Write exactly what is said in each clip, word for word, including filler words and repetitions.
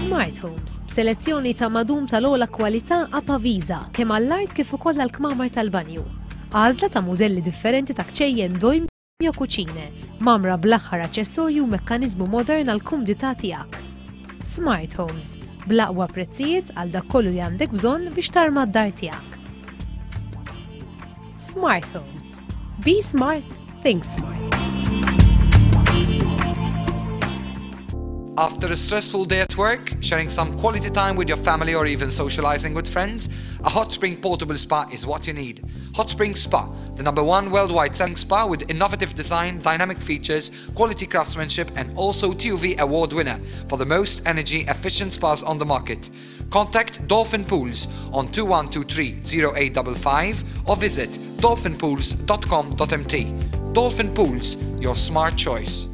Smart Homes, b'selezzjoni ta' madum tal-ogħla kwalità Apavisa kemm għall-art kif ukoll għall-kmamar tal-banju. Għażla ta' mudelli differenti ta' kċejjen Dolmio Cucine, mgħammra bl-aħħar aċessorju u mekkaniżmu modern għal kumdità tiegħek. Smart Homes, bl-aqwa prezzijiet għal dak kollu li għandek bżonn biex tarma d-dar tiegħek. Smart Homes. Be smart, think smart. After a stressful day at work, sharing some quality time with your family or even socializing with friends, a hot spring portable spa is what you need. Hot Spring Spa, the number one worldwide selling spa with innovative design, dynamic features, quality craftsmanship, and also T U V award winner for the most energy efficient spas on the market. Contact Dolphin Pools on twenty-one twenty-three oh eight five five or visit dolphinpools dot com dot M T. Dolphin Pools, your smart choice.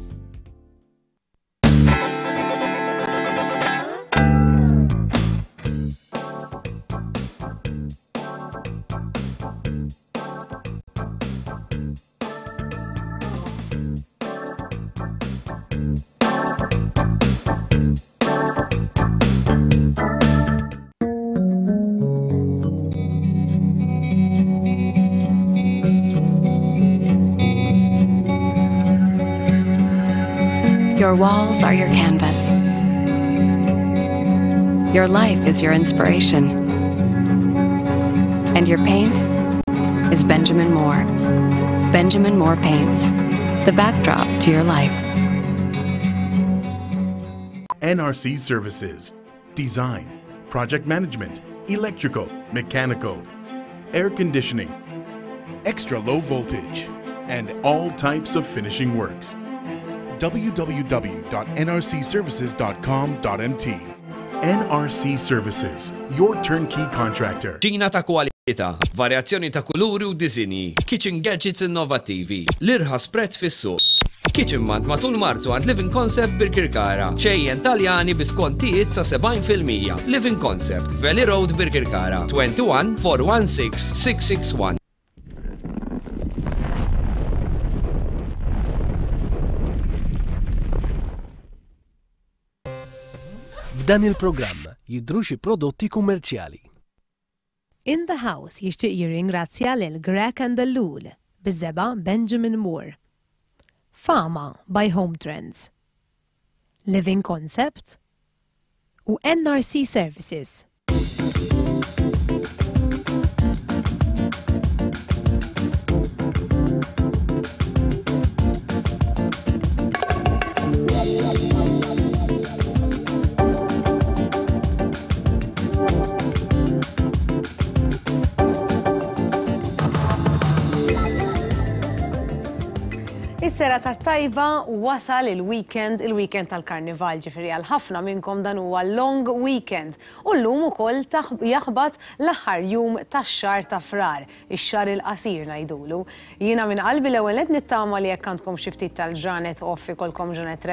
Your walls are your canvas. Your life is your inspiration. And your paint is Benjamin Moore. Benjamin Moore Paints, the backdrop to your life. N R C Services. Design, project management, electrical, mechanical, air conditioning, extra low voltage, and all types of finishing works. w w w dot n r c services dot com dot m t. N R C Services, your turnkey contractor. Kċina ta' kwalità, varjazzjoni ta' kuluri u disinji, kitchen gadgets innovattivi, l-irħas prezz fis-suq. Kitchen Month matul Marzu għand Living Concept Birkirkara. Kċejjen Taljani bi skontijiet sa sebgħin fil-mija. Living Concept, Valley Road, Birkirkara, twenty-one four one six six six one. F'dan il-programm jidhru xi prodotti kummerċjali. In the House jixtieq jirringrazzja lil Greg and Lul, biż-żebgħa Benjamin Moore. Fama by Home Trends. Living Concept u N R C Services. Is-serata tajba. Wasal il-weekend, il-weekend tal-karnival, ġifieri għal ħafna minnkom dan huwa long weekend. U llum ukoll jaħbat l-aħħar jum tax-xahar ta' Frar, ix-xahar il-qasir ngħidulu. Jiena minn qalbi l-ewwel qed nittama li jekk għandkom xi ftit tal-ġranet off ikolkom ġranet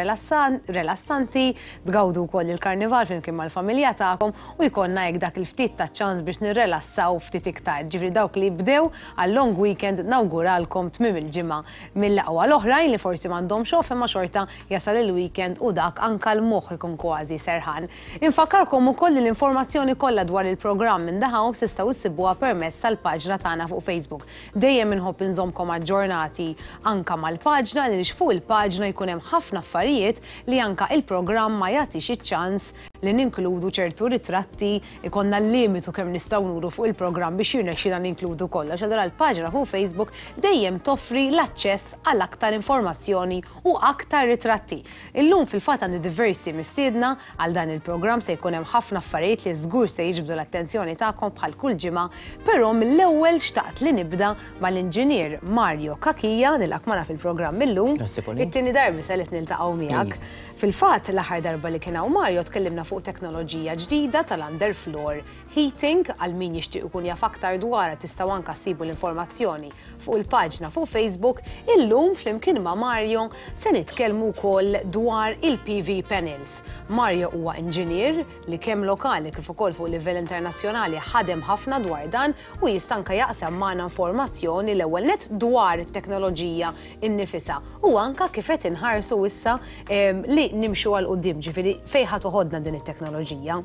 relassanti, tgawdu wkoll il-karnival flimkien mal-familja tagħkom u jkollna hekk dak il-ftit ta' ċans biex nirrelassaw ftit iktar. Ġifieri dawk li bdew għal long weekend nawguralkom tmiem il-ġimgħa mill-aqwa. L-oħrajn li forsi m'għandhomx off imma xorta jasal il-weekend u dak anka l-moħħ ikun kważi serħan. Infakkarkom ukoll li l-informazzjoni kollha dwar il-programm In the House tistgħu issibuha permezz tal-paġna tagħna fuq Facebook. Dejjem inħobb inżommkom aġġornati anka mal-paġna li fuq il-paġna jkun hemm ħafna affarijiet li anka il-programm ma jagħtix iċ-ċans li ninkludu ċertu ritratti, ikollna l-limitu kemm nistgħu nuru fuq il-programm biex jirnexxina ninkludu kollox. Allura l-paġna fuq Facebook dejjem toffri l-aċċess għal aktar informazzjoni u aktar ritratti. Illum fil-fatt għandi diversi mistiedna għal dan il-programm, se jkun hemm ħafna affarijiet li żgur se jiġbdu l-attenzjoni tagħkom bħal kull ġimgħa, però mill-ewwel xtaqt li nibda mal-inġinier Mario Cachia, nilqgħek magħna fil-programm illum. It-tieni darba se li niltaqgħu miegħek. Fil-fatt l-aħħar darba li kien hawn Mario tkellimna fuq teknoloġija ġdida tal-underfloor heating. Għal min jixtieq ikun jaf aktar dwarha tistgħu anka ssibu l-informazzjoni fuq il-paġna fuq Facebook. Illum flimkien ma' Mario se nitkellmu wkoll dwar il-P V panels. Mario huwa inġinier li kemm lokali kif ukoll fuq livell internazzjonali ħadem ħafna dwar dan u jista' anke jaqsam magħna informazzjoni l-ewwel net dwar it-teknoloġija innifisha u anka kif qed inħarsu issa li nimxu għal quddiem, ġifieri fejn ħa toħodna din. it-teknoloġija.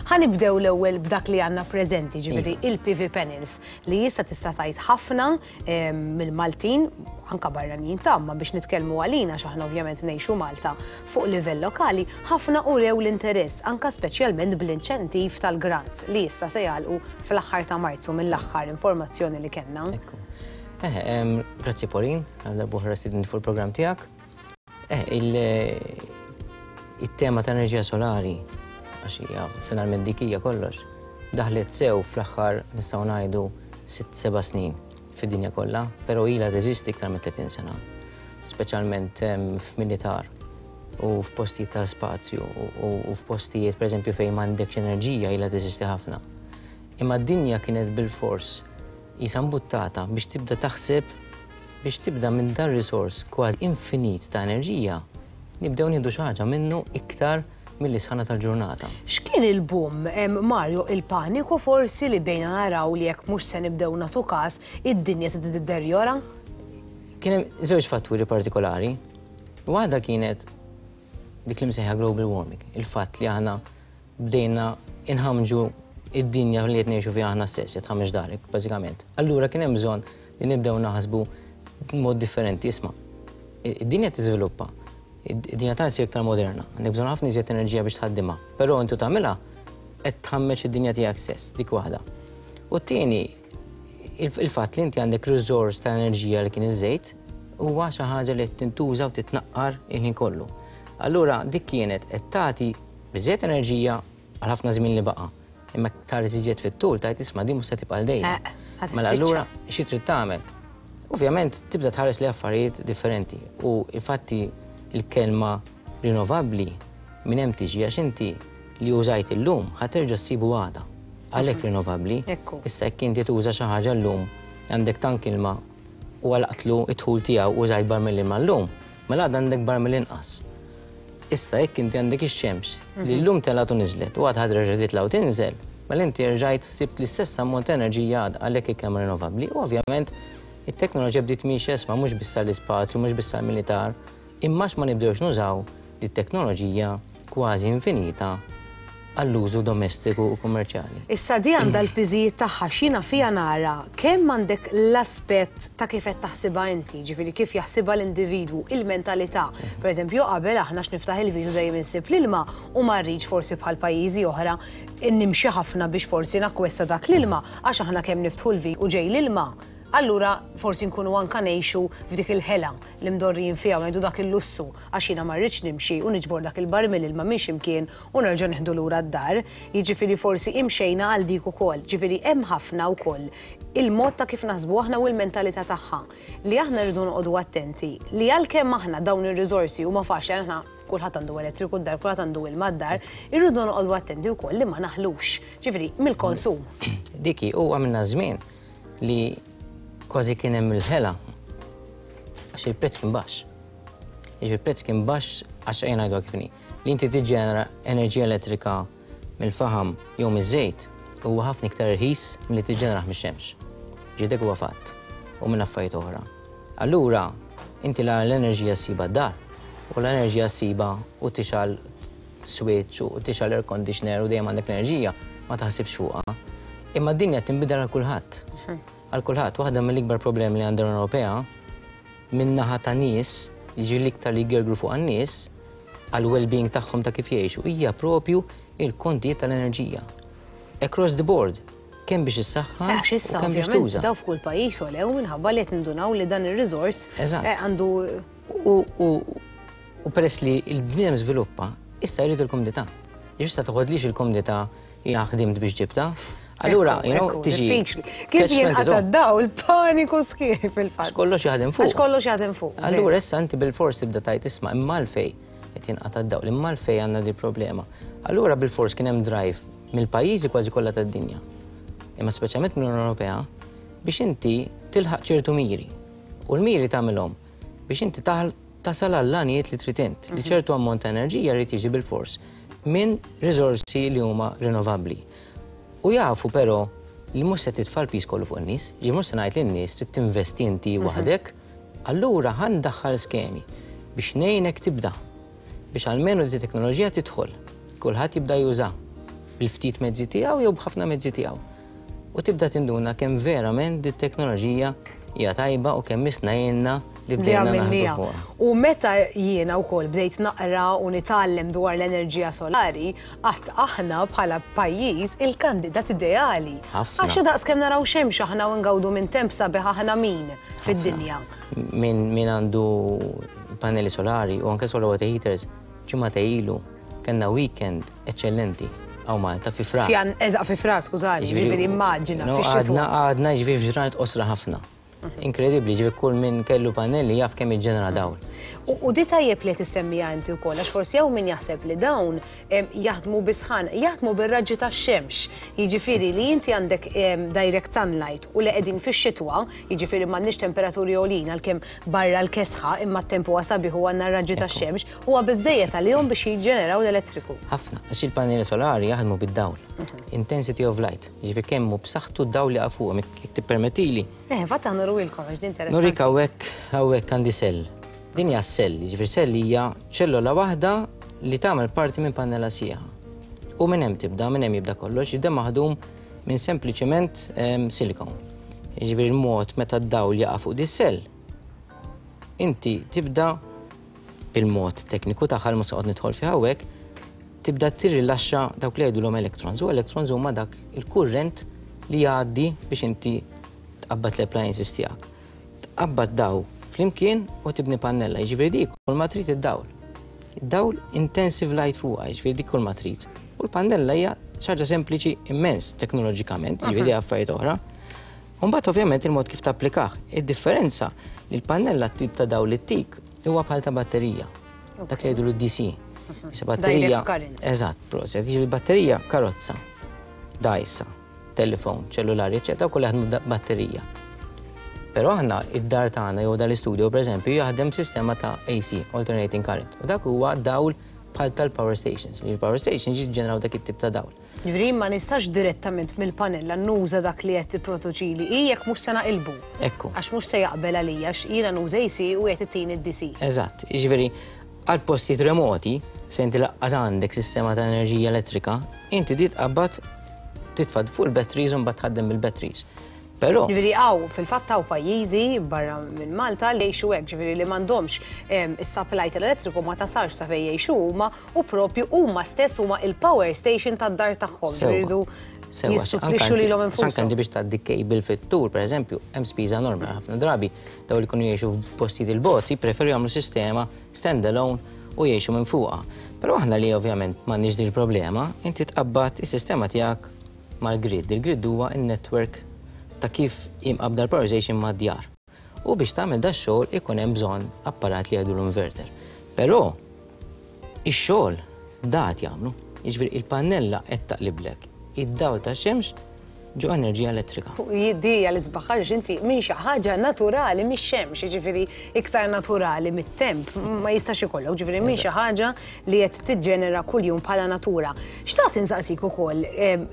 Ħa nibdew l-ewwel b'dak li għandna preżenti, ġifieri il-P V panels li issa tista' tgħid ħafna mill-Maltin, anka barranin tamma biex nitkellmu għalina x'aħna ovvjament ngħixu Malta fuq livell lokali, ħafna urew l-interess anka speċjalment bl-inċentiv tal-grants li issa se jagħlqu fl-aħħar ta' Marzu mill-aħħar informazzjoni li kellna. Eh, grazzi Pauline, għal darb'oħra stedintni fuq il-programm tiegħek. Eh, il-tema ta' enerġija solari, għax hija finalment dik hija kollox, daħlet sew fl-aħħar nistgħu ngħidu sitt seba' snin fid-dinja kollha, però ilha teżisti iktar minn tletin sena, speċjalment f'militar u f'postijiet tal-spazju u f'postijiet pereżempju fejn m'għandekx enerġija ilha teżisti ħafna. Imma d-dinja kienet bil-fors qisha mbuttata biex tibda taħseb biex tibda minn dan risors kważi infinit ta' enerġija, nibdew nieħdu xi ħaġa minnu iktar mill-isħana tal-ġurnata. X'kien il-boom, Mario, il-paniku forsi li bejna naraw li jekk mhux se nibdew nagħtu każ, id-dinja se tiddeterjora? Kien hemm żewġ fatturi partikolari. Waħda kienet dik li msejħa global warming, il-fatt li aħna bdejna inħamġu id-dinja li qed ngħixu fiha aħna stess, qed tħammeġ darek, bażikament. Allura kien hemm bżonn li nibdew naħsbu b'mod differenti, isma'. Id-dinja tiżviluppa, id-dinja tagħna ssir iktar moderna, għandek bżonn ħafna iżjed enerġija biex tħaddimha, però intu tagħmilha qed tħammeġ id-dinja tiegħek stess, dik waħda. U t-tieni, il-fatt li inti għandek riżors ta' enerġija li kien iż-żejt huwa xi ħaġa li qed tintuża u titnaqqar il-ħin kollu. Allura dik kienet qed tagħti biżejjed enerġija għal ħafna żmien li baqa'. Imma tara iżjed fit-tul tgħid isma' din mhux se tibqa' dejjem. Mela allura xi trid tagħmel? Ovvjament tibda tħares li affarijiet differenti u infatti il-kelma rinnovabbli minn hemm tiġi għax inti li użajt illum ħa terġa' ssibu għada. Għalhekk rinnovabbli. Issa jekk inti tuża xi ħaġa llum għandek tank ilma u għalaqtlu id-dħul tiegħu użajt barmil ilma llum, mela għadha għandek barmil inqas. Issa jekk inti għandek ix-xemx li llum telgħet u niżlet u għad ħa terġa' titla' u tinżel, mela inti rġajt sibt l-istess ammont ta' enerġija għadha għalhekk il-kelma rinnovabbli u ovvjament it-teknoloġija bdiet miexja isma' mhux biss għall-ispazju, mhux biss għall-militar, imma ma nibdewx nużaw dit-teknoloġija kważi infinita għall-użu domestiku u kummerċjali. Issa di għandha l-piżijiet tagħha x'jiena fija nara kemm għandek l-aspett ta' kif qed taħsibha inti, ġifieri kif jaħsibha l-individwu, il-mentalità. Pereżempju qabel aħna x'niftaħ il-vidu dejjem insib l-ilma u ma rridx forsi bħal pajjiżi oħra nimxi ħafna biex forsi nakkwesta dak l-ilma għax aħna kemm niftħu l-vit u ġej l-ilma. Allura forsi nkunu anka ngħixu f'dik il-ħela li mdorrijin fiha u ngħidu dak il-lussu għax jiena ma rridx nimxi u niġbor dak il-barmil ilma minn x'imkien u nerġa' nieħdu lura d-dar. Jiġifieri forsi imxejna għal dik ukoll. Ġifieri hemm ħafna wkoll il-mod ta' kif naħsbu aħna u l-mentalità tagħha li aħna rridu noqogħdu attenti li għalkemm aħna dawn ir-riżorsi huma faċli aħna kulħadd għandu elettriku d-dar, kulħadd għandu ilma d-dar, irridu noqogħdu attenti wkoll li ma naħlux. Ġifieri mill-konsum. Diki u għamilna żmien li kważi kien hemm il-ħela għax il-prezz kien baxx. Jiġifieri il-prezz kien baxx għax ejja ngħidu kif inhi. Li inti tiġġenera enerġija elettrika mill-faħam jew miż-żejt huwa ħafna iktar irħis milli tiġġenerah mix-xemx. Ġifieri dak huwa fatt u minn affarijiet oħra. Allura inti la l-enerġija ssiba d-dar u l-enerġija ssiba u tixgħel switch u tixgħel air conditioner u dejjem għandek l-enerġija ma taħsibx fuqha. Imma d-dinja tinbidel għal kulħadd. Għal kulħadd, waħda mill-ikbar problemi li għandha l-Unjoni Ewropea min-naħa ta' nies, jiġi l-iktar li jgergru fuq għan-nies, għal well-being tagħhom ta' kif jgħixu, hija propju il-kontijiet tal-enerġija. Across the board, kemm biex issaħħan Għax issa u kemm biex ovvjament tuża. daw f'kull pajjiż olew minħabba li qed nindunaw li dan ir-riżors Eżatt. eh, għandu U, u, u peress li l-bniedem żviluppa, issa jrid il-komdità. Issa toħodlix il-komdità jiena ħdimt biex ġibta. Allura, you know, Ekku, tiġi. diffiċli. Kif catch jinqata' twenty-two. d-dawl, paniku sħiħ fil-fatt. Għax kollox jaħdem fuq. Għax kollox jaħdem fuq. Allura issa inti bil-fors tibda tgħid isma' imma l-fej qed jinqata' d-dawl, imma l-fej għandna di problema. Allura bil-fors kien hemm drive mill-pajjiżi kważi kollha tad-dinja. Imma speċjalment mill-Unjoni Ewropea biex inti tilħaq ċertu miri. U l-miri tagħmilhom biex inti taħ- tasal għall-għanijiet li trid int, li ċertu ammont ta' enerġija jrid jiġi bil-fors minn riżorsi li huma rinnovabbli. U jafu però li mhux se titfa' l-piż kollu fuq in-nies, ġi mhux se ngħid lin-nies trid tinvesti inti waħdek, allura ħa ndaħħal skemi biex ngħinek tibda biex almenu di teknoloġija tidħol. Kulħadd jibda juża bil-ftit mezzi tiegħu jew b'ħafna mezzi tiegħu. U tibda tinduna kemm verament dit teknoloġija hija tajba u kemm misna jenna li bdejna naħsbu fuqha. U meta jiena wkoll bdejt naqra u nitgħallem dwar l-enerġija solari, qatt aħna bħala pajjiż il-kandidat ideali. Għax daqs kemm naraw xemx aħna u ngawdu minn temp sabiħ aħna min fid-dinja. Min min għandu pannelli solari u anke solar water heaters, ġimgħa ilu kellna weekend eċċellenti hawn Malta fi Frar. Eżaq fi Frar, skużani, ġifieri immaġina. Għadna għadna ġifieri f'ġranet qosra ħafna. Inkredibbli, ġifieri kull min kellu pannelli jaf kemm jiġġenera dawl. U di tajjeb li tissemmija inti wkoll, għax forsi hawn min jaħseb li dawn jaħdmu bisħan, jaħdmu bir-raġġi tax-xemx. Jiġifieri li inti għandek direct sunlight u li qegħdin fix-xitwa, jiġifieri m'għandniex temperaturi għolin għalkemm barra l-kesħa imma t-temp huwa sabiħ u għandna r-raġġi tax-xemx, huwa biżżejjed għalihom biex jiġġeneraw l-elettriku. Ħafna, għax il-pannelli solari jaħdmu bid-dawl. Intensity of light, jiġifieri kemm hu b'saħħtu d-dawl li fuqhom, jekk tippermettili. Eh, fatt aħna nuruilkom għax din interessanti. Nurik hawnhekk hawnhekk għandi sell. Din hija sell, jiġifieri sell hija ċellola waħda li tagħmel parti minn pannella sieħa. U minn hemm tibda, minn hemm jibda kollox, jibda maħdum minn sempliċement silikon. Jiġifieri l-mod meta d-dawl jaqa' fuq di sell, inti tibda bil-mod tekniku tagħha li mhux se nidħol fih hawnhekk, tibda tirrilaxxa dawk li jgħidulhom electrons. U electrons huma dak il-kurrent li jgħaddi biex inti tqabbad l-appliances tiegħek. Tqabbad daw flimkien u tibni pannella, jiġifieri dik kull ma trid id-dawl. Id-dawl intensive light fuqha, jiġifieri dik kull ma trid. U l-pannella hija xi ħaġa sempliċi immens teknoloġikament, jiġifieri affarijiet oħra. U mbagħad ovvjament il-mod kif tapplikah. Id-differenza li l-pannella tip ta' dawl li tik huwa bħal ta' batterija. Dak li jgħidu D C. Issa batterija. Eżatt, proset. Jiġifieri batterija karozza, dgħajsa, telefon, ċellulari, eċċetera, kollha jaħdmu batterija. Però aħna id-dar tagħna jew dal-istudio pereżempju jaħdem sistema ta' A C, alternating current. U dak huwa dawl bħal tal-power stations. Il-power stations jiġġeneraw dak it-tip ta' dawl. Ġifieri ma nistax direttament mill-panella nuża dak li qed tipproduċili hi jekk mhux se naqilbu. Ekku. Għax mhux se jaqbel għalija għax jiena nuża A C u qed ittini d-D C. Eżatt, jiġifieri għal postijiet remoti fejn tilaqqas għandek sistema ta' enerġija elettrika, inti di tqabbad titfa' fuq il-batteries u mbagħad tħaddem bil-batteries. Però Ġifieri hawn, fil-fatt hawn pajjiżi barra minn Malta li jgħixu hekk, ġifieri li m'għandhomx is-supply tal-elettriku ma tasalx sa fejn jgħixu huma u propju huma stess huma il-power station tad-dar tagħhom. Iridu jissupplixxu lilhom infushom. Anke biex tgħaddi cable fit-tul, pereżempju, hemm spiża enormi ħafna drabi dawn li jkunu jgħixu f'postijiet il-bogħod jippreferu jagħmlu sistema standalone u jgħixu minn fuqha. Però aħna li ovvjament m'għandniex din il-problema, inti tqabbad is-sistema tiegħek mal-grid. Il-grid huwa in-network ta' kif jimqabda l-power station mad-djar. U biex tagħmel da xogħol ikun hemm bżonn apparat li jgħidu l-inverter. Però ix-xogħol dat jagħmlu. Jiġifieri il-pannella qed taqliblek id-dawl tax-xemx ġo enerġija elettrika. Di l-isbaħ ħaġa inti minn xi ħaġa naturali mix-xemx, jiġifieri iktar naturali mit-temp, ma jistax ikollok, ġifieri minn xi ħaġa li qed tiġġenera kuljum bħala natura. Xtaqt insaqsik ukoll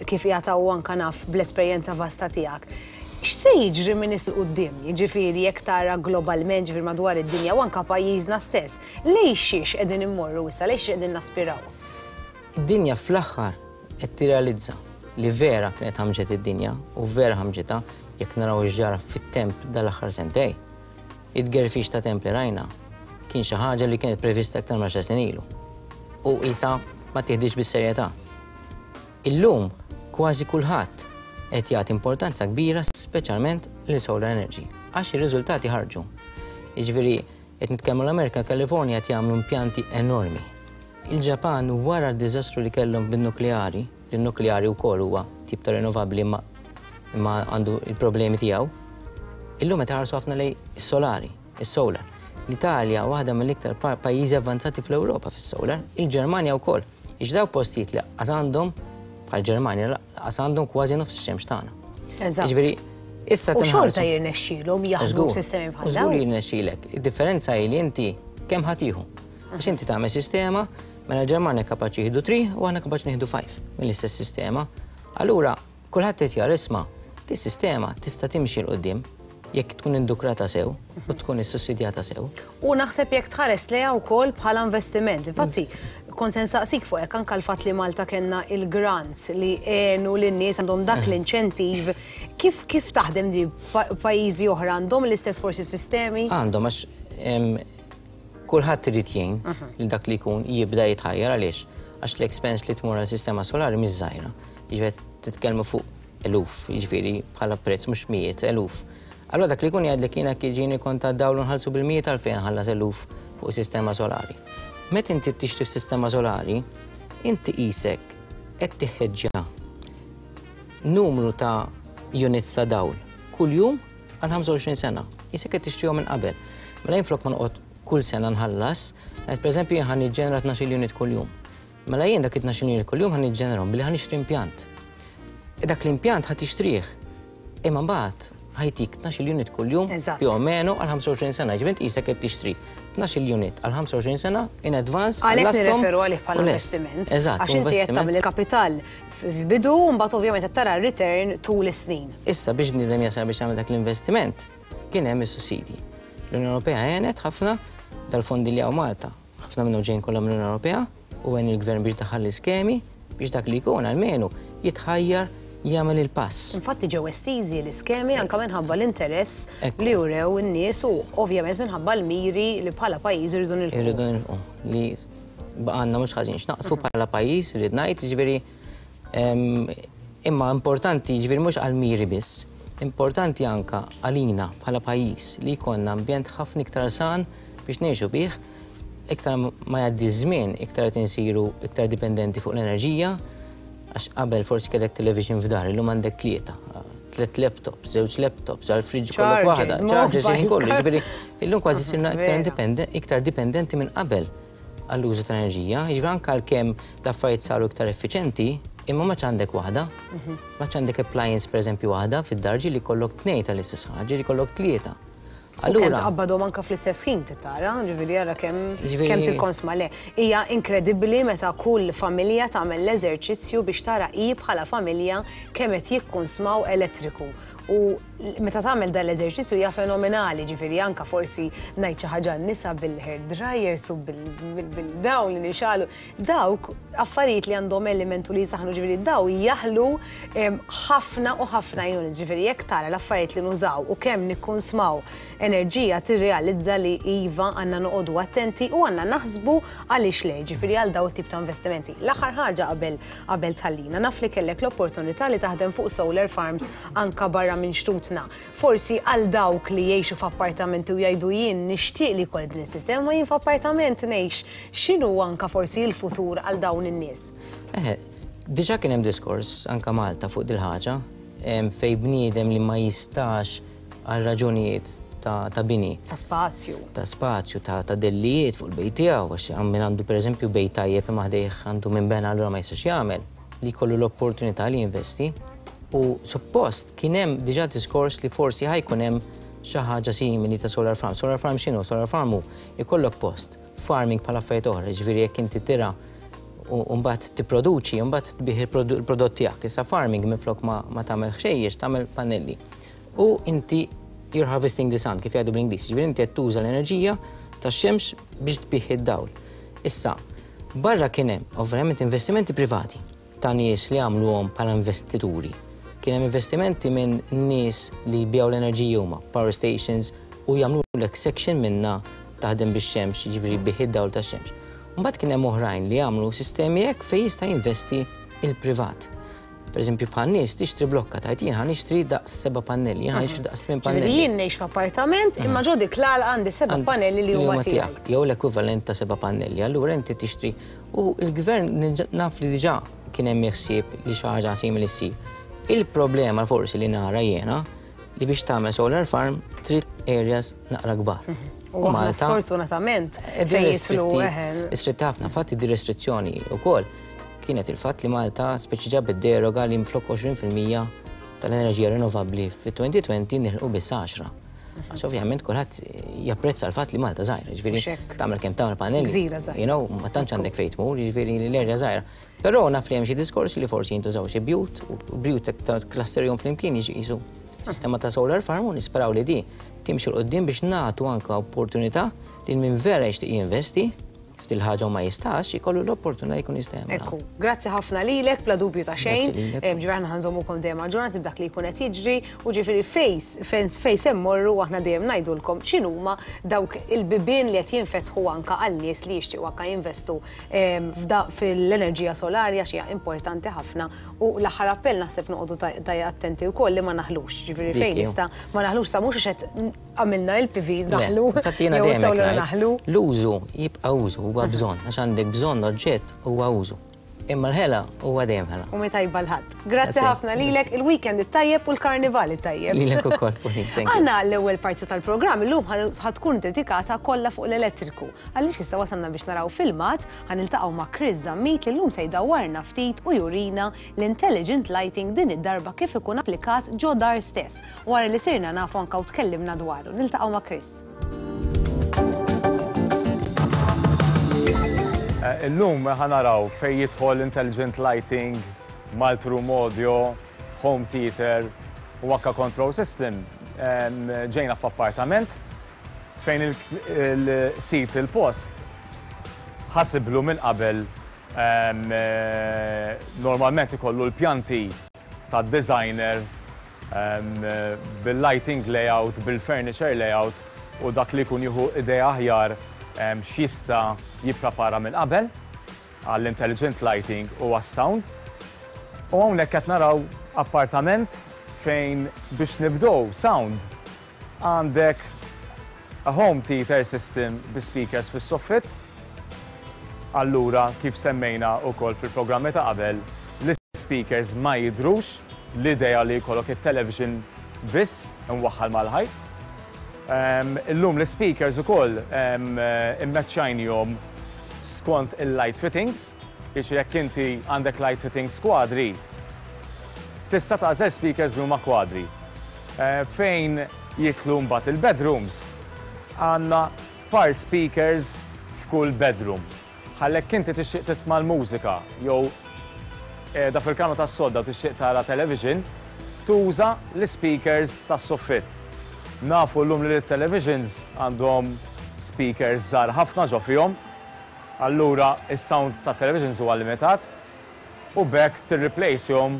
kif jagħtaw anka naf bl-esperjenza vasta tiegħek. X'se jiġri minn issa 'l quddiem, jiġifieri jekk tara globalment, ġifieri madwar id-dinja u anka pajjiżna stess, lejn xiex qegħdin immorru issa, lejn xiex qegħdin naspiraw? Id-dinja fl-aħħar qed tirrealizza li vera kienet ħamġet id-dinja u vera ħamġitha jekk naraw x'ġara fit-temp dal-aħħar sentej. Id-gerfix ta' temp li rajna kien xi ħaġa li kienet prevista aktar ma' snin ilu. U isa ma tieħdix bis-serjetà. Illum kważi kulħadd qed jagħti importanza kbira speċjalment lil solar energy għax ir-riżultati ħarġu. Jiġifieri qed nitkellmu l-Amerika, Kalifornja qed jagħmlu impjanti enormi. Il-Ġapan wara d-diżastru li kellhom bin-nukleari, il-nukleari wkoll huwa tip ta' rinnovabbli imma imma għandu il-problemi tiegħu. Illum qed ħarsu ħafna lejn is-solari, is-solar. L-Italja waħda mill-iktar pajjiżi avvanzati fl-Ewropa fis-solar, il-Ġermanja wkoll. Ix daw postijiet li qas għandhom bħal Ġermanja qas għandhom kważi nofs ix-xemx tagħna. Eżatt. Jiġifieri issa U xorta jirnexxielhom jaħdmu b'sistemi bħal Żgur dawn. jirnexxielek. Id-differenza hi li inti kemm ħa tieħu. Għax inti tagħmel sistema, mela l-Ġermanja kapaċi jieħdu tlieta u aħna kapaċi nieħdu ħamsa mill-istess sistema. Allura kulħadd qed jara isma' dis-sistema tista' timxi 'l quddiem. Jekk tkun indukrata sew u tkun issussidjata sew. U naħseb jekk tħares lejha wkoll bħala investiment. Infatti, kont se nsaqsik fuq hekk anke l-fatt li Malta kellna il-grants li għenu lin-nies għandhom dak l-inċentiv. Kif kif taħdem di pajjiżi oħra għandhom l-istess forsi sistemi? Għandhom, għax kulħadd irid jgħin li dak li jkun jibda jitħajjar. Għaliex? Għax l-expense li tmur għal sistema solari mhix żgħira. Jiġifieri titkellmu fuq eluf, jiġifieri bħala prezz mhux mijiet, eluf. Allora dak li jkun jgħidlek jiena jiġini kont ta' dawl nħallsu bil-mijiet, għalfejn ħallas eluf fuq sistema solari? Meta inti tixtri sistema solari, inti qisek qed tiħeġġa numru ta' units ta' dawl kuljum għal ħamsa u għoxrin sena. Qisek qed tixtrihom minn qabel. Mela jinflok ma noqgħod kull sena nħallas, qed pereżempju jien ħa niġġenera tnax-il unit kuljum. Mela jien dak it-tnax-il unit kuljum ħa niġġenerahom billi ħa nixtri impjant. E dak l-impjant ħa tixtrih. Imma mbagħad ħa jtik tnax-il unit kuljum più o meno għal ħamsa u għoxrin sena. Ġifieri qisek qed tixtri tnax-il unit għal ħamsa u għoxrin sena in advance. Għalhekk nirreferu għalih bħala investiment. Eżatt. Għax inti qed tagħmel il-kapital fil-bidu u mbagħad ovvjament qed tara return tul is-snin. Issa biex bniedem jasal biex jagħmel dak l-investiment, kien hemm is-sussidji. L-Unjoni Ewropea għenet ħafna dal-fondi li hawn Malta. Ħafna minnhom ġejjin kollha mill-Unjoni Ewropea u għen il-gvern biex daħal l-iskemi biex dak li jkun almenu jitħajjar jagħmel il-pass. Infatti ġew estiżi l-iskemi anke minħabba l-interess li urew in-nies u ovvjament minħabba l-miri li bħala pajjiż irridu nilħqu. Irridu nilħqu li baqgħanna mhux ħażin x'naqfu bħala pajjiż, irrid ngħid, jiġifieri imma importanti, jiġifieri mhux għall-miri biss, importanti anka għalina bħala pajjiż li jkollna ambjent ħafna iktar san biex ngħixu bih. Iktar ma jgħaddi żmien, iktar qed insiru iktar dipendenti fuq l-enerġija, għax qabel forsi kellek television f'dar, illum għandek tlieta, tliet laptops, żewġ laptops, għal fridge kollok waħda, chargers, ħin kollu, jiġifieri illum kważi sirna iktar iktar dipendenti minn qabel għall-użu tal-enerġija, jiġifieri anke għalkemm l-affarijiet saru iktar effiċenti, imma ma għandek waħda, ma għandek appliance pereżempju waħda fid-dar, li kollok tnejn tal-istess ħaġa, li kollok tlieta. Allura tqabbadhom anke fl-istess ħin tara, ġifieri ara kemm kemm tikkonsma le. Hija inkredibbli meta kull familja tagħmel l-eżerċizzju biex tara hi bħala familja kemm qed jikkonsmaw elettriku. U meta tagħmel dan l-eżerċizzju hija fenomenali, ġifieri anke forsi ngħid xi ħaġa nisa bil-hair dryers u bil-dawn li nixalu. Dawk affarijiet li għandhom elementu li jisaħnu, ġifieri daw jaħlu ħafna u ħafna units, ġifieri jekk tara l-affarijiet li nużaw u kemm nikkonsmaw enerġija tirrealizza li iva għandna noqogħdu attenti u għandna naħsbu għaliex le, ġifieri għal daw tip ta' investimenti. L-aħħar ħaġa qabel qabel tħallina, naf li kellek l-opportunità li taħdem fuq solar farms anka barra minn xtutna. Forsi għal dawk li jgħixu f'appartamenti u jgħidu jien nixtieq li jkolli din is-sistema, jien f'appartament ngħix, x'inhu anka forsi l-futur għal dawn in-nies? Eħe, diġà kien hemm diskors anka Malta fuq dil-ħaġa fejn bniedem li ma jistax għal raġunijiet ta', ta bini. Ta' spazju. Ta' spazju, ta', ta dellijiet fuq il-bejt tiegħu, għax min għandu pereżempju bejt tajjeb imma ħdejh għandu minn bena, allura ma jistax jagħmel, li jkollu l-opportunità li jinvesti. U suppost kien hemm diġà diskors li forsi ħa jkun hemm xi ħaġa simili ta' solar farm. Solar farm x'inhu? Solar farm hu jkollok post farming bħala affarijiet oħra, ġifieri jekk inti tira u mbagħad tipproduċi, u mbagħad tbih il-prodott tiegħek. Issa farming minflok ma, ma tagħmel ħxejjex, tagħmel pannelli. U inti you're harvesting the sun, kif jgħidu bl-Ingliż, ġifieri inti qed tuża l-enerġija tax-xemx biex tbih id-dawl. Issa, barra kien hemm ovvjament investimenti privati ta' nies li għamluhom bħala investituri. Kien hemm investimenti minn nies li jbigħu l-enerġija huma, power stations, u jagħmlu section minna taħdem bix-xemx, jiġifieri bih id-dawl tax-xemx. Mbagħad kien hemm oħrajn li jagħmlu sistemi hekk fejn jista' jinvesti il-privat. Per eżempju, bħal nies tixtri blokka, tgħid jien ħa nixtri daqs seba' pannelli, jien ħa nixtri daqs tmien pannelli. Jien ngħix f'appartament imma ġo dik l għandi seba' pannelli li huma tiegħek. Jew l-ekwivalent ta' seba' pannelli, allura inti tixtri. U l-gvern naf li diġà kien hemm ħsieb li xi ħaġa simili ssir. Il-problema forsi li nara jiena li biex tagħmel solar farm trid areas naqra kbar. U Malta sfortunatament fejn jidħlu. Ristretti ħafna, fatti di restrizzjoni wkoll kienet il-fatt li Malta speċi ġabet deroga li mflok għoxrin fil-mija tal-enerġija rinnovabbli fit-elfejn u għoxrin nilħqu biss għaxra. Għax ovvjament kulħadd japprezza l-fatt li Malta żgħira, jiġifieri tagħmel kemm tagħmel pannelli. Gżira żgħira. You know, ma tantx għandek fejn tmur, jiġifieri l-erja żgħira. Però naf li hemm xi diskorsi li forsi jintużaw xi bjut u bjut clusterjhom flimkien jiġi qisu Sistema ta' solar farm, u nisperaw li di timxi 'l quddiem biex nagħtu anka opportunità li min vera jixtieq jinvesti f'dil ħaġa u ma jistax, jkollu l-opportunità jkun jista' jagħmilha. Ekku, grazzi ħafna lilek, bla dubju ta' xejn. Grazzi lilek. Ġifieri aħna ħa nżommukom dejjem aġġornati b'dak li jkun qed jiġri u ġifieri fejs, fejn fejn se mmorru aħna dejjem ngħidulkom x'inhuma dawk il-bibien li qed jinfetħu anka għal nies li jixtiequ anka jinvestu em, f'da- fil-enerġija solarja, xi importanti ħafna, u l-aħħar appell naħseb noqogħdu ta- ta' attenti wkoll li ma naħlux, ġifieri Dik fejn ju. nista' ma naħlux sa mhux għax qed għamilna il-P Vs Le, naħlu. infatti jiena jew dejjem solar hekk ngħid, naħlu. l-użu jibqa' użu, huwa bżonn, għax għandek bżonn oġġett huwa użu. Imma l-ħela huwa dejjem ħela. U tajba l-ħadd. Grazzi Grazzi. ħafna lilek, il-weekend it-tajjeb u l-karnival it-tajjeb. Lilek ukoll, Pauline, thank you. Aħna l-ewwel parti tal-programm illum ħa tkun dedikata kollha fuq l-elettriku. Għaliex issa wasalna biex naraw filmat, ħa niltaqgħu ma' Chris Zammit li llum se jdawwarna ftit u jurina l-intelligent lighting din id-darba kif ikun applikat ġo dar stess. Wara li sirna nafu anka u tkellimna dwaru. Niltaqgħu ma' Chris. Eh, Illum ħa naraw fej jidħol intelligent lighting, multi-room audio, home theater u anka control system. Em, Ġejna f'appartament fejn il-sit il-post ħasiblu minn qabel em, eh, normalment ikollu l-pjanti ta' designer em, eh, bil-lighting layout, bil-furniture layout u dak li jkun jieħu idea aħjar em, x'jista' jipprepara minn qabel għall-intelligent lighting u għas-sound. U hawnhekk qed naraw appartament fejn biex nibdew sound għandek a home theater system bi speakers fis-soffit. Allura, kif semmejna wkoll fil-programmi ta' qabel, l-speakers ma jidrux, l-idea li jkollok it-television biss imwaħħal mal-ħajt. Um, illum l-speakers ukoll um, immeċċajnihom skont il-light fittings, jiġifieri jekk inti għandek light fittings kwadri, tista' tagħżel speakers li huma kwadri. Eh, fejn jidħlu mbagħad il-bedrooms, għandna par speakers f'kull bedroom. Ħalli jekk inti tixtieq tisma' l-mużika jew da fil-kamra tas-sodda tixtieq tara television, tuża l-speakers tas-soffit. Nafu llum li l-televisions għandhom speakers żgħar ħafna ġo fihom, allura is-sound ta' televisions huwa limitat u b'hekk tirreplacehom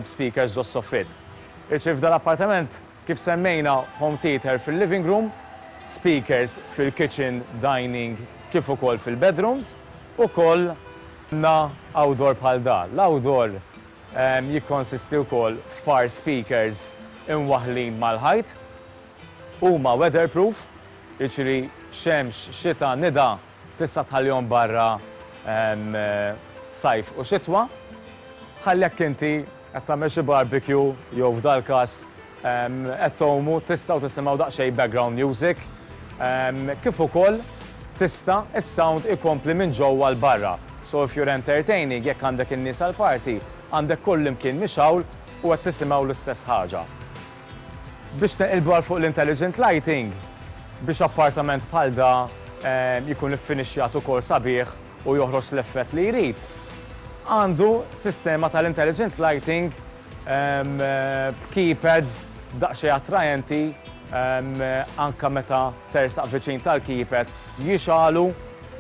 speakers ġo soffit. Iċi f'dal-appartament, kif semmejna, home theater fil-living room, speakers fil-kitchen, dining, kif ukoll fil-bedrooms, u koll na outdoor bħal da. L-outdoor um, jikkonsisti wkoll f'par speakers imwaħlin mal-ħajt, huma weatherproof, jiġifieri xemx, xita, nida, tista' tħallihom barra um, sajf u xitwa. Ħalli jekk inti qed tagħmel xi barbecue jew f'dal każ qed tgħumu, tistgħu tisimgħu daqsxejn background music. Um, kif ukoll tista' is-sound ikompli minn ġewwa 'l barra. So if you're entertaining, jekk għandek in-nies għal party, għandek kull imkien mixgħul u qed tisimgħu l-istess ħaġa. Biex neqilbu għal fuq l-intelligent lighting, biex appartament bħal da jkun iffinixjat ukoll sabiħ u joħroġ l-effett li jrid, għandu sistema tal-intelligent lighting b'keypads daqsxejn attrajenti, anka meta tersaq viċin tal-keypad jixgħelu,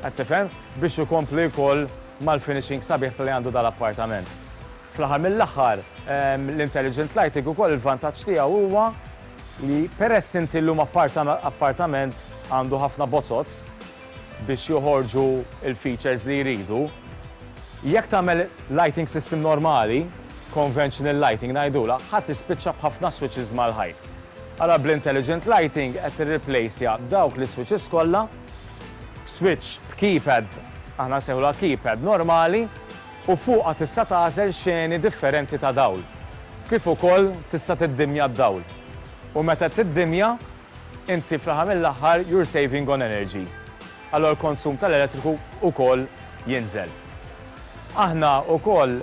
qed tifhem, biex ikompli wkoll mal-finishing sabiħ li għandu dal-appartament. Fl-aħħar mill-aħħar, l-intelligent lighting ukoll il-vantaġġ tiegħu huwa li peress inti llum appartament għandu ħafna bozoz biex joħorġu il-features li jridu, jekk tagħmel lighting system normali, conventional lighting ngħidula, ħadd tispiċċa b'ħafna switches mal-ħajt. Ara bl-intelligent lighting qed tirreplaceja dawk li switches kollha switch b'keypad, aħna nsejħulha keypad normali, u fuqha tista' tagħżel xeni differenti ta' dawl. Kif ukoll tista' tiddimja d-dawl. U meta tiddimja, inti fl-aħħar mill-aħħar you're saving on energy. Allora l-konsum tal-elettriku ukoll jinżel. Aħna ukoll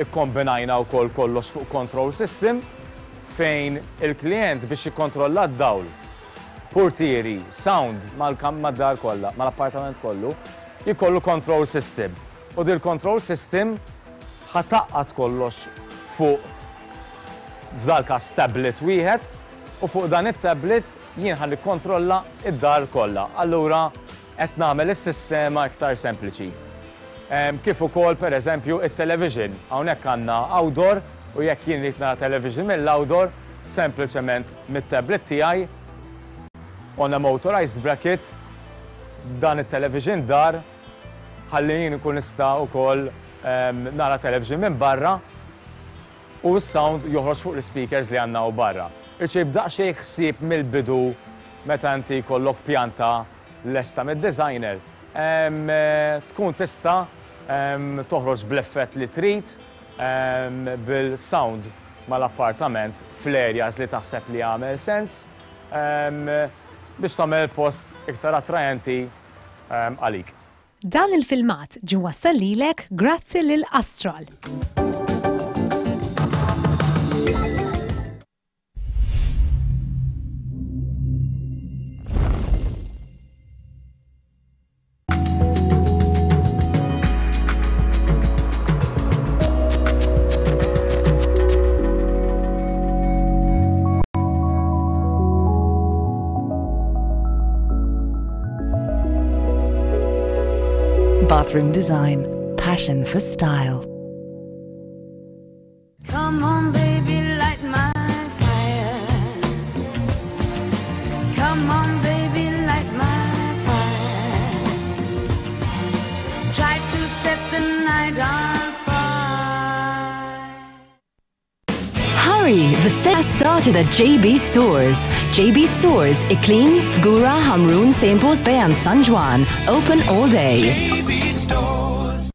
ikkombinajna wkoll kollox fuq control system fejn il-klient biex jikkontrolla d-dawl, portieri, sound mal-dar kollha, mal-appartament kollu, jkollu control system. U dil control system ħa tgħaqqad kollox fuq f'dal każ tablet wieħed, u fuq dan it-tablet jien ħa nikkontrolla id-dar kollha. Allura qed nagħmel is-sistema iktar sempliċi. Kif ukoll pereżempju it-television. Hawnhekk għandna outdoor u jekk jien rrid nara television mill-outdoor, sempliċement mit-tablet tiegħi on a motorized bracket dan it-television dar ħalli jien ikun nista' wkoll nara television minn barra u s-sound joħroġ fuq l-speakers li għandna u barra. Irċib daqsxejn ħsieb mill-bidu meta inti jkollok pjanta lesta mid-designer. Tkun tista' toħroġ bl-effett li trid bil-sound mal-appartament fl-areas li taħseb li jagħmel sens biex tagħmel post iktar attrajenti għalik. Dan il-filmat ġie wassal lilek grazzi lil Astral. Bathroom design, passion for style. Come on, baby, light my fire. Come on, baby, light my fire. Try to set the night on fire. Hurry, the sale has started at J B Stores. J B Stores, Iklin, Fgura, Hamrun, Saint Paul's Bay and San Juan. Open all day. J B Stores.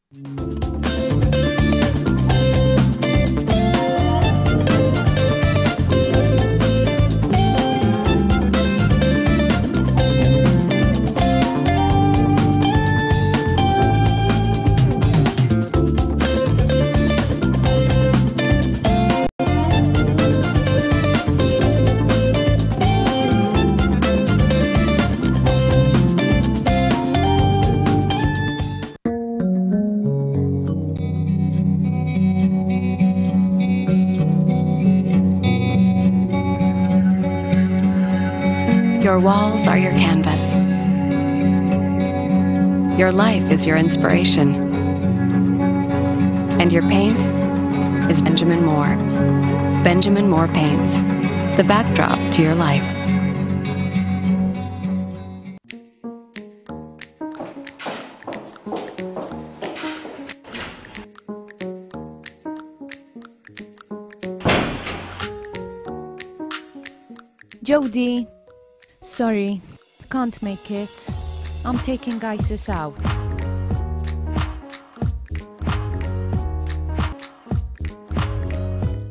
Your walls are your canvas. Your life is your inspiration. And your paint is Benjamin Moore. Benjamin Moore Paints, the backdrop to your life. Jodie, sorry, can't make it. I'm taking Isis out.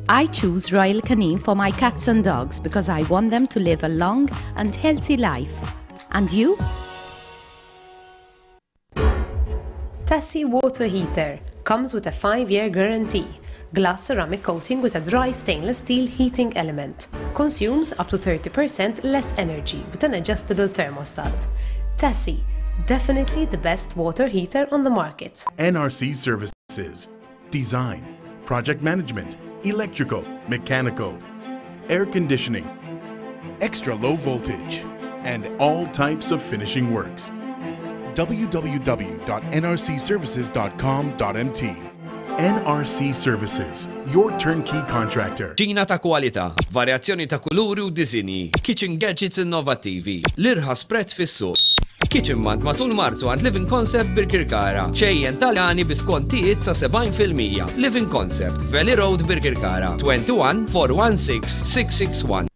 I choose Royal Canin for my cats and dogs because I want them to live a long and healthy life. And you? Tassi water heater comes with a five-year guarantee. Glass ceramic coating with a dry stainless steel heating element. Consumes up to thirty percent less energy with an adjustable thermostat. Tassi, definitely the best water heater on the market. N R C Services. Design, project management, electrical, mechanical, air conditioning, extra low voltage, and all types of finishing works. w w w dot n r c services dot com dot m t. N R C Services, your turnkey contractor. Ġina ta' kwalità, varjazzjoni ta' kuluri u disinji, kitchen gadgets innovattivi, l-irħas prezz fis-suq. Kitchen Month matul Marzu għand Living Concept Birkirkara. Xejjen Taljani bi skontijiet sa sebgħin fil-mija. Living Concept, Valley Road Birkirkara, twenty-one four one six six six one.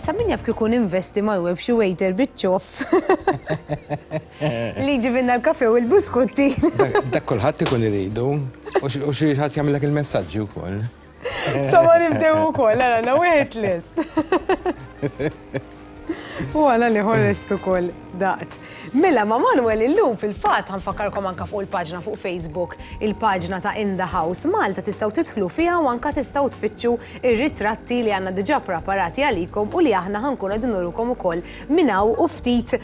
Sa min jaf kieku ninvesti ma' web xi waiter biċ-ċoff. Li ġibinna l-kafe u l-biskutti. Dak kulħadd ikun iridu u xi ħadd jagħmellek il-messaġġi wkoll. Sa ma nibdew ukoll, ara na wieħed list. U għala li ħorrest ukoll daqt. Mela ma' Manuel illum fil-fatt ħa nfakkarkom anka fuq il-paġna fuq Facebook, il-paġna ta' In The House Malta, tistgħu tidħlu fiha u anka tistgħu tfittxu ir-ritratti li għandna diġà preparati għalikom u li aħna ħa nkunu qegħdin nurukom ukoll minn hawn u ftit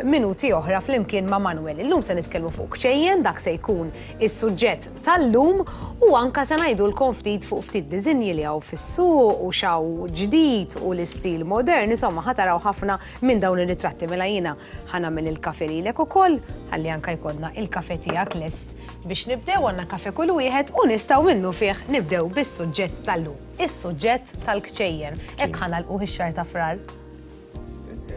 minuti oħra flimkien ma' Manuel. Illum se nitkellmu fuq kċejjen, dak se jkun is-suġġett tal-lum, u anka se ngħidulkom ftit fuq ftit diżinji li hawn fis-suq u x'hawn ġdid u l-istil modern, insomma ħa taraw ħafna minn dawn ir-ritratti. Mela jiena ħa nagħmel il-kafe lilek ukoll, ħalli anka jkollna il-kafe tiegħek lest biex nibdew. Għandna kafe kull wieħed u nistgħu minnu fih nibdew bis-suġġett tal-lum, is-suġġett tal-kċejjen. Hekk ħa nagħlqu ix-xahar ta' Frar.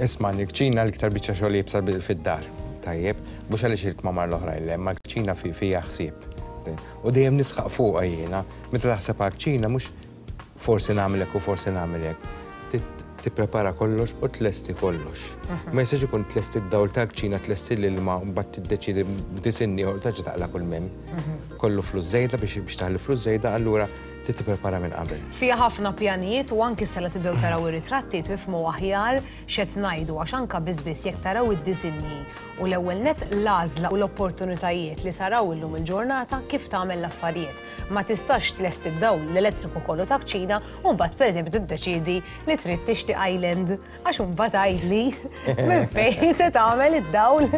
Isma', il-kċina l-iktar biċċa xogħol iebsa fid-dar, tajjeb, mhux għaliex il-kmamar l-oħrajn le, ma l-kċina fiha ħsieb. U dejjem nisħaq fuqha jiena, meta taħseb għall-kċina mhux forsi nagħmlek u forsi nagħmlek. Tipprepara kollox u tlesti kollox. Ma jistax ikun tlesti d-dawl tal-kċina, tlesti l-ilma, u mbagħad tiddeċiedi b'disinni u terġa' taqla' kull mem. Kollu flus żejda biex biex taħli flus żejda, allura trid tipprepara minn qabel. Fiha ħafna pjanijiet u anki sala tibdew taraw ir-ritratti tifhmu aħjar x'qed ngħidu, għax anka biss biss jekk taraw id-disinji u l-ewwel net l-għażla u l-opportunitajiet li saraw illum il-ġurnata kif tagħmel l-affarijiet. Ma tistax tlesti d-dawl l-elettriku kollu ta' kċina u mbagħad pereżempju tiddeċiedi li trid tixtri island, għax imbagħad għidli minn fejn se tagħmel id-dawl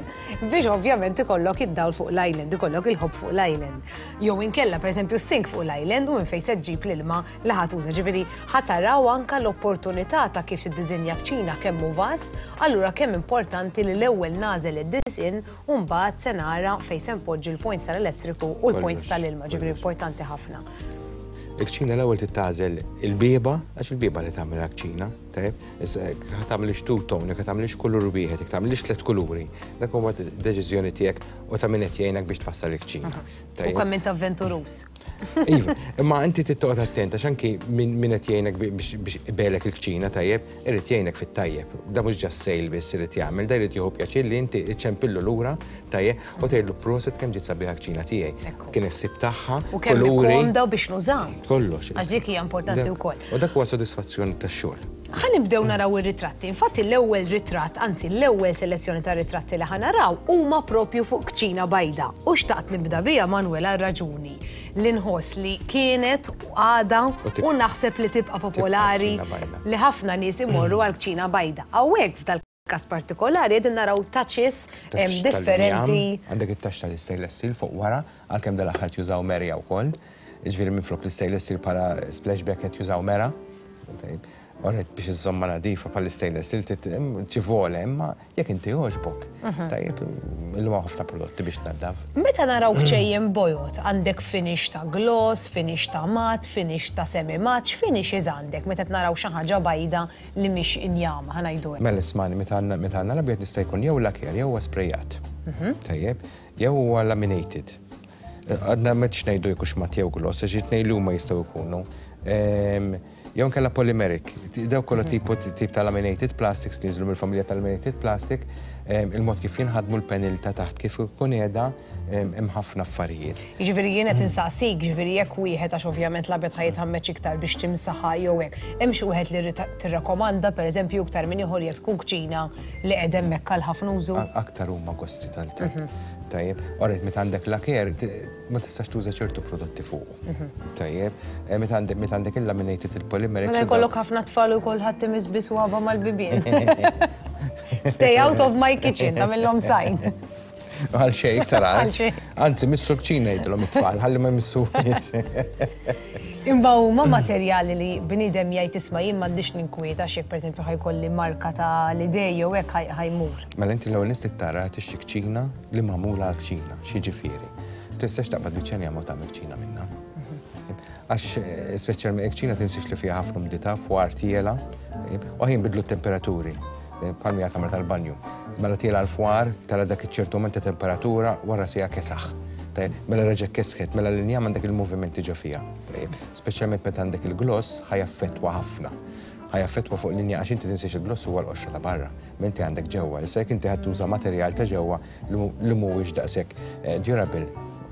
biex ovvjament ikollok id-dawl fuq l-island, ikollok il-ħobb fuq l-island. Jew inkella pereżempju s-sink fuq l-island u minn fejn se ġġib l-ilma li ħa tuża. Ġifieri ħa taraw anka l-opportunità ta' kif tiddiżinja kċina kemm hu vast, allura kemm importanti li l-ewwel nagħżel id-disinn u mbagħad se nara fejn se npoġġi l-points tal-elettriku u l-points tal-ilma, ġifieri importanti ħafna. Il-kċina l-ewwel titgħażel il-bieba, għax il-bieba li tagħmel kċina, tajjeb? Issa jekk ħa tagħmilx two tone, jekk ħa tagħmilx kulur wieħed, jekk tagħmilx tliet kuluri, dak huwa deċiżjoni tiegħek u ta' min qed jgħinek biex tfassal il-kċina. U kemm int avventuruż. Iva, imma inti trid toqgħod attent għax anki min qed jgħinek biex ibelek il-kċina, tajjeb, irid jgħinek fit-tajjeb. Da mhux just sale biss irid jagħmel, da jrid jieħu pjaċir li inti iċċempillu lura, tajjeb, u tgħidlu proset kemm ġiet sabiħa kċina tiegħi. Kien il-ħsieb tagħha, U kemm komda biex nużaw. Kollox. Għax dik hija importanti wkoll. U dak huwa sodisfazzjoni tax-xogħol. Ħa nibdew naraw ir-ritratti. Infatti l-ewwel ritratt, anzi l-ewwel selezzjoni ta' ritratti li ħa naraw huma propju fuq kċina bajda. U xtaqt nibda biha, Manuel, għal raġuni li nħoss li kienet u għada u naħseb li tibqa' popolari li ħafna nies imorru għal kċina bajda. Hawnhekk f'dal każ partikolari qegħdin naraw touches differenti. Għandek it-touch tal-stainless steel fuq wara, għalkemm dal-aħħar jużaw merja wkoll. Jiġifieri minflok l-stainless steel bħala splashback qed jużaw mera. Orret biex iżżomma nadifa bħal stainless steel ċivole, imma jekk inti jogħġbok. Tajjeb, illum hawn ħafna prodotti biex tnaddaf. Meta naraw kċejjen bojod, għandek finish ta' gloss, finish ta' mat, finish ta' semi-mat, x'finishes għandek meta naraw xi ħaġa bajda li mhix injama, ħa ngħidu hekk? Mela ismani, meta għandna meta għandna l-abjad jista' jkun jew lacquer jew huwa sprejat. Tajjeb, jew huwa laminated. Għadna m'hux ngħidu jekk mat jew gloss, għax it-tnejn li huma jistgħu jkunu. Jew nkella polymeric. Daw kollha tipo tip ta' laminated plastics li jinżlu mill-familja ta' laminated plastic, il-mod kif jinħadmu l-panel ta' taħt kif ikun qiegħda, hemm ħafna affarijiet. Jiġifieri jien qed insaqsik, jiġifieri jekk wieħed, għax ovvjament l-abjad ħa jitħammeġ iktar biex timsaħha jew hekk, hemm xi wieħed li tirrakkomanda pereżempju iktar minn ieħor jekk tkun kċina li qed hemmhekk għal ħafna użu? Aktar huma gosti tal Tajjeb, orret meta għandek lacquer ma tistax tuża ċertu prodotti fuq. Tajjeb, meta għandek meta għandek il-laminated il-polymeric. Meta jkollok ħafna tfal u kulħadd imiss bi swaba mal-bibien. Stay out of my kitchen, tagħmilhom sign. Għal xejn iktar Għal xejn. Anzi, missu l-kċina jgħidulhom it-tfal, ħalli ma jmissu. Imma huma materjali li bniedem jgħid isma' jien m'għandix ninkwieta għax jekk pereżempju ħa jkolli marka ta' l-idej jew hekk ħa jmur. Mela inti l-ewwel nies tara tixtri kċina li magħmula għal kċina, x'jiġifieri. Tistax taqbad biċċa ma tagħmel kċina minnha. Għax speċjalment kċina tinsiex li fiha ħafna umdità fwar tiela, u ħin bidlu t-temperaturi. Palmi għal kamra tal-banju. Mela tiela l-fwar, tara dak iċ-ċertu moment ta' temperatura, wara sija kesaħ. Mela reġa' kesħet, mela l-injam għandek il-movimenti ġo fiha. Speċjalment meta għandek il-gloss, ħa jaffettwa ħafna. Ħa jaffettwa fuq l-inja, għax inti tinsiex il-gloss huwa l-qoxra ta' barra, menti għandek ġewwa. Issa jekk inti ħadd tuża materjal ta' ġewwa li mhuwiex daqshekk durable,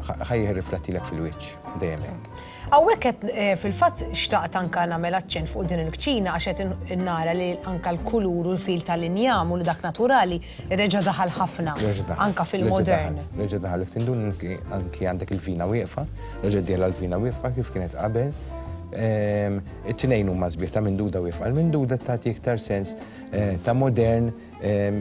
ħa jirriflettilek fil-wiċċ dejjem hekk. Hawnhekk qed eh, fil-fatt xtaqt anka nagħmel aċċenn fuq din il-kċina għax qed nara li anka l-kulur u l-fil tal-injam u dak naturali reġa' daħal ħafna anka fil-modern. Reġa' daħal tindun anki għandek il-vina wieqfa, reġa' dieħla l-vina wieqfa kif kienet qabel. Ehm, it-tnejn huma sbieħ ta' minduda wieqfa. Il-minduda tagħti iktar sens eh, ta' modern, ehm,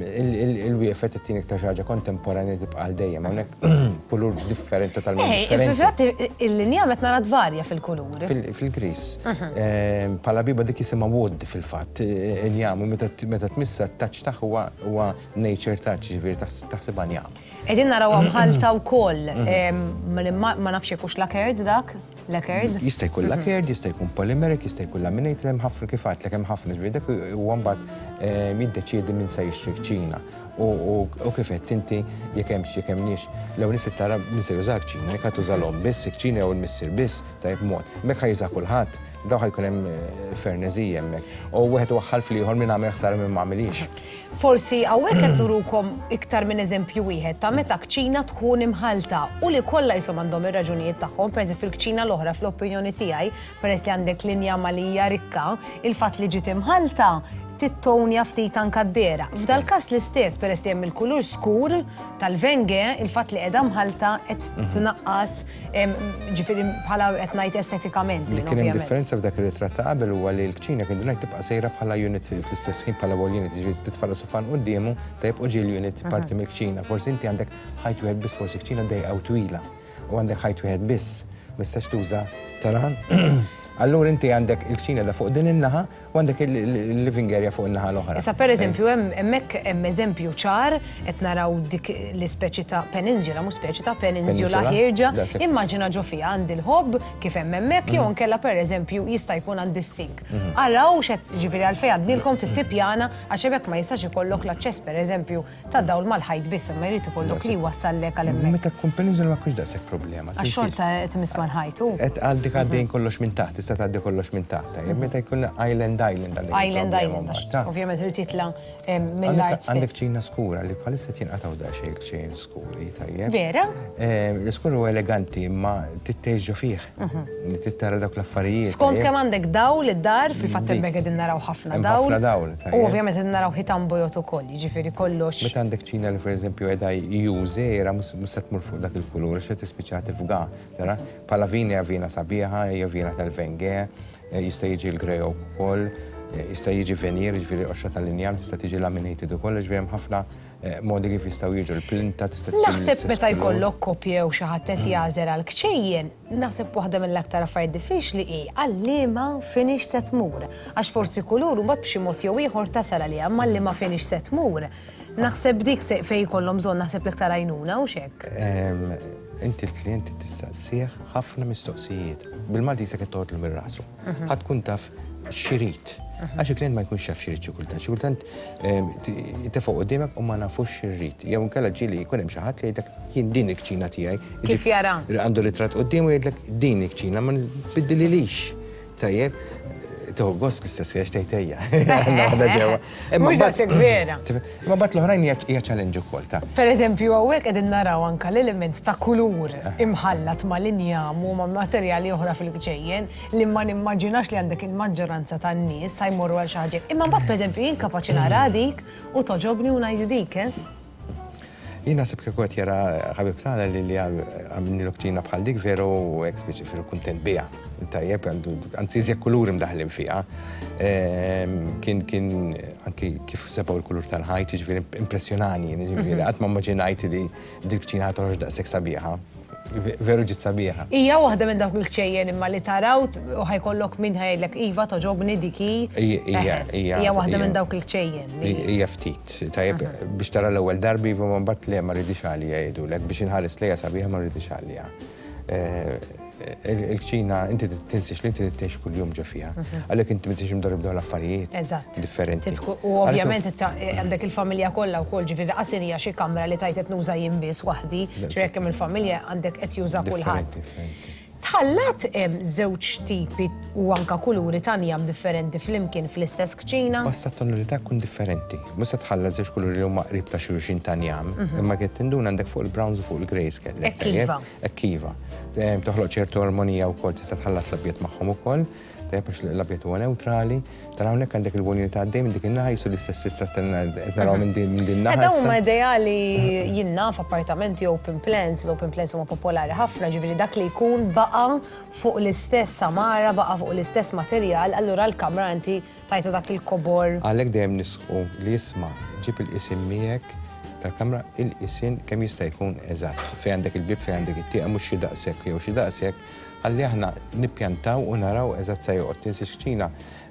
il-wieqfa tagħti iktar xi ħaġa kontemporanja tibqa' għal dejjem. Hawnhekk kulur differenti totalment eh, differenti. Fil-fatt il-linja qed nara tvarja fil-kulur. Fil-gris. Mhm. Ehm, bħala biba dik jisimha wood fil-fatt, eh, injam, u meta tmissa t-touch tagħha huwa nature touch, ġifieri taħsibha njam. Qegħdin naraw mħalta wkoll, Mhm. ma nafx jekk hux lacquered dak. Lacquered? Jista' jkun lacquered, jista' jkun polymeric, jista' jkun laminated, hemm ħafna kif għedtlek hemm ħafna ġifieri dak huwa mbagħad ehm, jiddeċiedi min se jixtri kċina. U kif qed inti jekk hemmx jekk hemmniex l-ewwel nies tara min se juża kċina, jekk tuża l-omm biss, kċina jew il-missier biss, tajjeb mod. Mek ħa juża kulħadd, daw ħa jkun hemm eh, frenezija hemmhekk. U wieħed waħħal fl-ieħor min għamel ħsara minn ma għamilix. Forsi hawnhekk qed nurukom iktar minn eżempju wieħed ta' meta kċina tkun imħalta u li kollha jisom għandhom ir-raġunijiet tagħhom, pereżempju fil-kċina l-oħra fl-opinjoni tiegħi, peress li għandek linja malija rikka, il-fatt li ġiet imħalta tittonja ftit anka d-dehra. F'dal każ l-istess, peress li hemm il-kulur skur tal-wenge, il-fatt li qiegħda mħalta qed Mhm. tnaqqas ġifieri bħala qed ngħid estetikament. Li kien hemm differenza f'dak ir-ritratt ta' qabel huwa li l-kċina kien ngħid tibqa' sejra bħala unit fl-istess ħin bħala wall unit, ġifieri titfa' sufan quddiemu tajjeb u ġie l-unit parti Mhm. mill-kċina. Forsi inti għandek ħajt wieħed biss, forsi kċina dejqa u twila u għandek ħajt wieħed biss, ma tistax tuża tara. Allura inti għandek il-kċina da fuq din in-naħa u għandek il-living area fuq in-naħa l-oħra. Issa per eżempju, hemmhekk hemm eżempju ċar qed naraw dik l-ispeċi ta' peninsula, mhux speċi ta' peninsula ħierġa. Immaġina ġo fiha għandi l-hob kif hemm hemmhekk jew nkella per eżempju jista' jkun għandi s-sink. Mhm. Araw x'qed ġifieri għalfejn għadnilkom tittipjana għax hemmhekk ma jistax ikollok l-aċċess per eżempju ta' dawl mal-ħajt biss, imma jrid ikollok li wassallek għal hemmhekk. Meta tkun peninsula ma tkunx daqshekk problema. Għax xorta qed imiss mal-ħajt u. Qed għandek għaddejn kollox minn taħt, tista' tgħaddi kollox minn taħt. Meta jkun island island għandek Island island, ovvjament irid jitla' mill-art. Għandek ċina skura li bħalissa jinqatgħu daqsxejn ċejn skuri, tajjeb. Vera? L-iskur huwa eleganti imma tittejġu fih. Mhm. Tittara dawk l-affarijiet. Skont kemm għandek dawl id-dar, fil-fatt hemmhekk qegħdin naraw ħafna dawl. Ħafna dawl. U ovvjament qegħdin naraw ħitan bojod ukoll, jiġifieri kollox. Meta għandek ċina li pereżempju qiegħda jużera mhux se tmur fuq dak il-kulur għax tispiċċa tifga, tara? Bħala vina hija vina sabiħa, hija vina tal-wenge, jista' jiġi l-grey ukoll, jista' jiġi veneer, jiġifieri qoxra tal-injam, tista' tiġi laminated ukoll, jiġifieri hemm ħafna eh, modi kif jistgħu jiġu l-plinta tista' tiġi. Naħseb meta jkollok koppja u xi ħadd qed jagħżel għal kċejjen, naħseb waħda mill-aktar affarijiet diffiċli hi għal liema finish se tmur. Għax forsi kulur u mbagħad b'xi mod jew ieħor tasal għaliha, imma liema finish se tmur. Naħseb dik fejn jkollhom bżonn naħseb l-iktar għajnuna u xek. Inti l-klient tistaqsih ħafna mistoqsijiet. Bil-Malti jisek toħodlu minn rasu. Mhm. Ħa tkun taf x'irid. Mhm. Għax il-klient ma jkunx jaf x'irid xi kultant. Xi kultant tefgħu quddiemek u ma nafux x'irid. Jew inkella ġieli jkun hemm xi ħadd li jgħidlek jien din il-kċina tiegħi. Kif jara? Għandu ritratt quddiemu jgħidlek din il-kċina ma nbiddililix. Tajjeb, tieħu gost bl-istess għax tgħid ejja. Waħda ġewwa. Mhux daqshekk vera. Imma mbagħad l-oħrajn hija challenge ukoll ta' Per eżempju, hawnhekk qegħdin naraw anka l-element ta' kulur imħallat ma' linjam u ma' materjali oħra fil-kċejjen li ma nimmaġinax li għandek il-maġġoranza tan-nies sa jmorru għal xi ħaġa. Imma mbagħad pereżempju jien kapaċi nara dik u toġobni u ngħid dik, eh? Jien naħseb kieku qed jara ħabib tagħna li li għamilnilu kċina bħal dik veru hekk speċi veru kuntent biha. Tajjeb, għandu anzi iżjed kuluri mdaħlin fiha. Ehm, Kien kien anki kif sebgħu l-kulur tal-ħajt, jiġifieri impressjonani, jiġifieri Mhm. qatt ma immaġinajt li dik kċina ħa toħroġ daqshekk sabiħa. Veru ġiet sabiħa. Hija waħda minn dawk il-kċejjen imma li taraw u ħa jkollok min ħa jgħidlek iva toġobni dik hi. Hija hija Hija waħda minn dawk il-kċejjen. li- Hija ftit, tajjeb biex tara l-ewwel darbi iva ma mbagħad le ma rridix għalija jgħidulek biex inħares lejha sabiħa ma rridix għalija. Eh, Il-kċina inti tinsiex li inti tgħix kuljum ġo fiha. Mhm. Għalhekk inti m'intix imdorri b'dawn l-affarijiet Eżatt. differenti. Titku- U ovvjament itta- għandek il-familja kollha wkoll ġifieri qasin hija xi kamra li tajt qed nuża jien biss waħdi, Eżatt. xi jekk hemm il-familja għandek qed juża kulħadd. Differenti, differenti. Tħallat żewġ tipi u anka kuluri ta' njam differenti flimkien fl-istess kċina? Basta tonalità tkun differenti. Mhux se tħallat żewġ kuluri li huma qrib ta' xulxin ta' njam, Mhm. imma qed tinduna għandek fuq il-browns u fuq il-greys kellek. Hekk iva. Hekk iva. Toħloq ċertu armonija wkoll, tista' tħallat l-abjad magħhom ukoll. Tajjeb, għax l-abjad huwa neutrali. Tara hawnhekk għandek il-wonjoni ta' għaddej minn dik in-naħa, jisu l-istess ritratt qed naraw minn din minn din naħa. Dawn issa. huma ideali jiena f'appartamenti open plans, l-open plans huma popolari ħafna, ġifieri dak li jkun baqa' fuq l-istess samara, baqa' fuq l-istess materjal, allura l-kamra inti tajta dak il-kobor. Għalhekk dejjem nisħu li jisma' ġib il-qisien miegħek tal-kamra, il-qisien kemm jista' jkun eżatt. Fejn għandek il-bib, fejn għandek it-tieqa, mhux xi daqshekk jew xi daqshekk, ħalli aħna nippjantaw u naraw eżatt sa joqgħod. Tinsiex kċina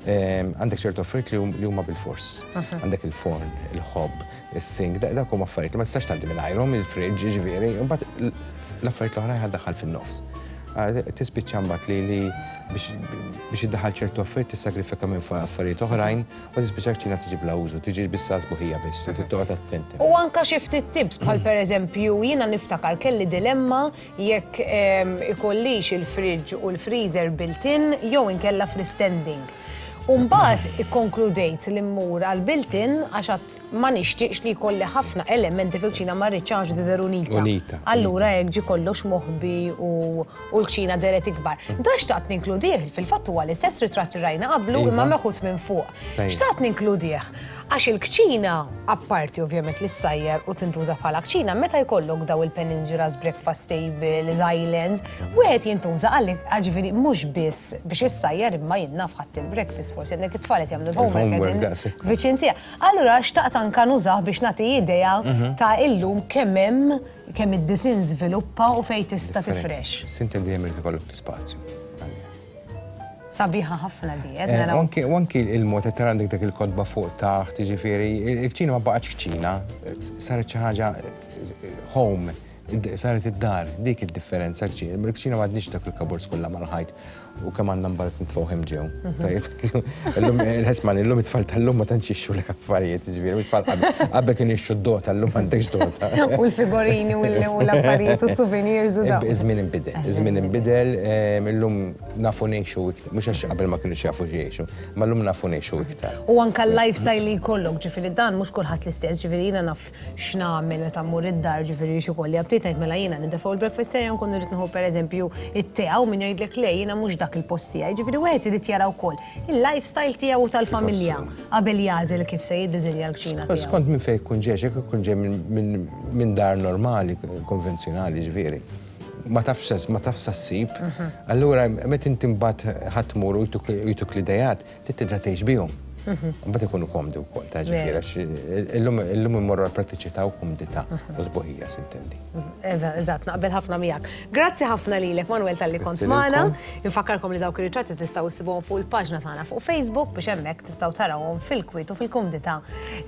għandek ċertu affarijiet li hum- li huma bil-fors. Mhm. Għandek il-forn, il-hob, is-sink, da- dak huma affarijiet li ma tistax tgħaddi mingħajrhom, il-fridge, ġifieri, u mbagħad l-affarijiet l-oħrajn ħaddaħħal fin-nofs. Ah, Tispiċċa mbagħad li li biex biex iddaħħal ċertu affarijiet tissagrifika minn fa- affarijiet oħrajn u tispiċċa kċina tiġi bla użu, tiġi biss sbuħija biss, trid toqgħod attenti. U anka xi ftit tips bħal pereżempju jiena niftakar kelli dilemma jekk em, ikollix il-fridge u l-freezer built-in jew inkella freestanding. U mbagħad ikkonkludejt li mmur għal built-in għax għad ma nixtieqx li jkolli ħafna elementi fil-kċina, ma rridx għax tidher unita. Unita. Allura hekk ġi kollox moħbi u u l-kċina deret ikbar. Da xtaqt ninkludih, fil-fatt huwa l-istess ritratt li rajna qablu Iva. imma meħud minn fuq. Tajjeb. Xtaqt ninkludih għax il-kċina, apparti ovvjament li ssajjar u tintuża bħala kċina, meta jkollok daw il-peninsulas, breakfast table, islands, wieħed jintuża għalli ġifieri mhux biss biex issajjar imma jien naf ħadd il-breakfast, forsi għandek it-tfal qed jagħmlu l-homework Il-homework qegħdin daqshekk. viċin tiegħek. Allura xtaqt anka nużah biex nagħti idea Mhm. ta' illum kemm hemm kemm id-design żviluppa u fejn tista' tifrex. S'intendi dejjem irid ikollok l-ispazju. Sabiħa ħafna di, qed Eh, naraw. U anki- u anki il-mod qed tara għandek dak il-kotba fuq taħt, jiġifieri, il-kċina ma baqgħetx kċina, saret xi ħaġa eh, home, id- saret id-dar, dik id-differenza l-kċina. Il-kċina m'għadniex dak il-cupboards kollha mal-ħajt u kemm għandna mbarazz nitfgħu hemm ġew. Mhm. Tajjeb, illum il-ħesman, illum it-tfal tal-lum ma tantx jixtru lek affarijiet, jiġifieri, mhux bħal qabel. Qabel kienu jixtru d-dota, llum m'għandekx dota. U l-figurini u l- u l-affarijiet u souvenirs u dawn. Iż-żmien inbidel, iż-żmien inbidel, em, illum nafu ngħixu iktar, mhux għax qabel ma kienux jafu jgħixu, ma llum nafu ngħixu iktar. U anka l-lifestyle li jkollok, ġifieri dan mhux kulħadd l-istess, ġifieri jiena naf x'nagħmel meta mmur id-dar, ġifieri xi kolli aptit ngħid mela jiena nintefgħu l-breakfast area nkun irrid nieħu pereżempju it-tea u min jgħidlek le jiena mhux dak il-post tiegħi. Ġifieri wieħed irid jara wkoll il-lifestyle tiegħu u tal-familja qabel jagħżel kif se jiddiżinja l-kċina tiegħu. Skont minn fejn jkun ġej, jekk ikun ġej minn- minn minn dar normali, konvenzjonali, ġifieri. Ma tafx ma tafx ssib. Mhm. Allura meta inti mbagħad ħadd tmur u jtuk jtuk l-idejat, trid tidra tgħix bihom. Mhm. Mbagħad ikunu komdi wkoll, ta' ġifieri għax illum illum immorru għal prattiċità u komdità u sbuħija, s'intendi. Eva, eżatt, naqbel ħafna miegħek. Grazzi ħafna lilek, Manuel, talli kont Grazzi magħna. lilkom. Infakkarkom li dawk ir-ritratti tistgħu issibuhom fuq il-paġna tagħna fuq Facebook biex hemmhekk tistgħu tarawhom fil-kwiet u fil-kumdità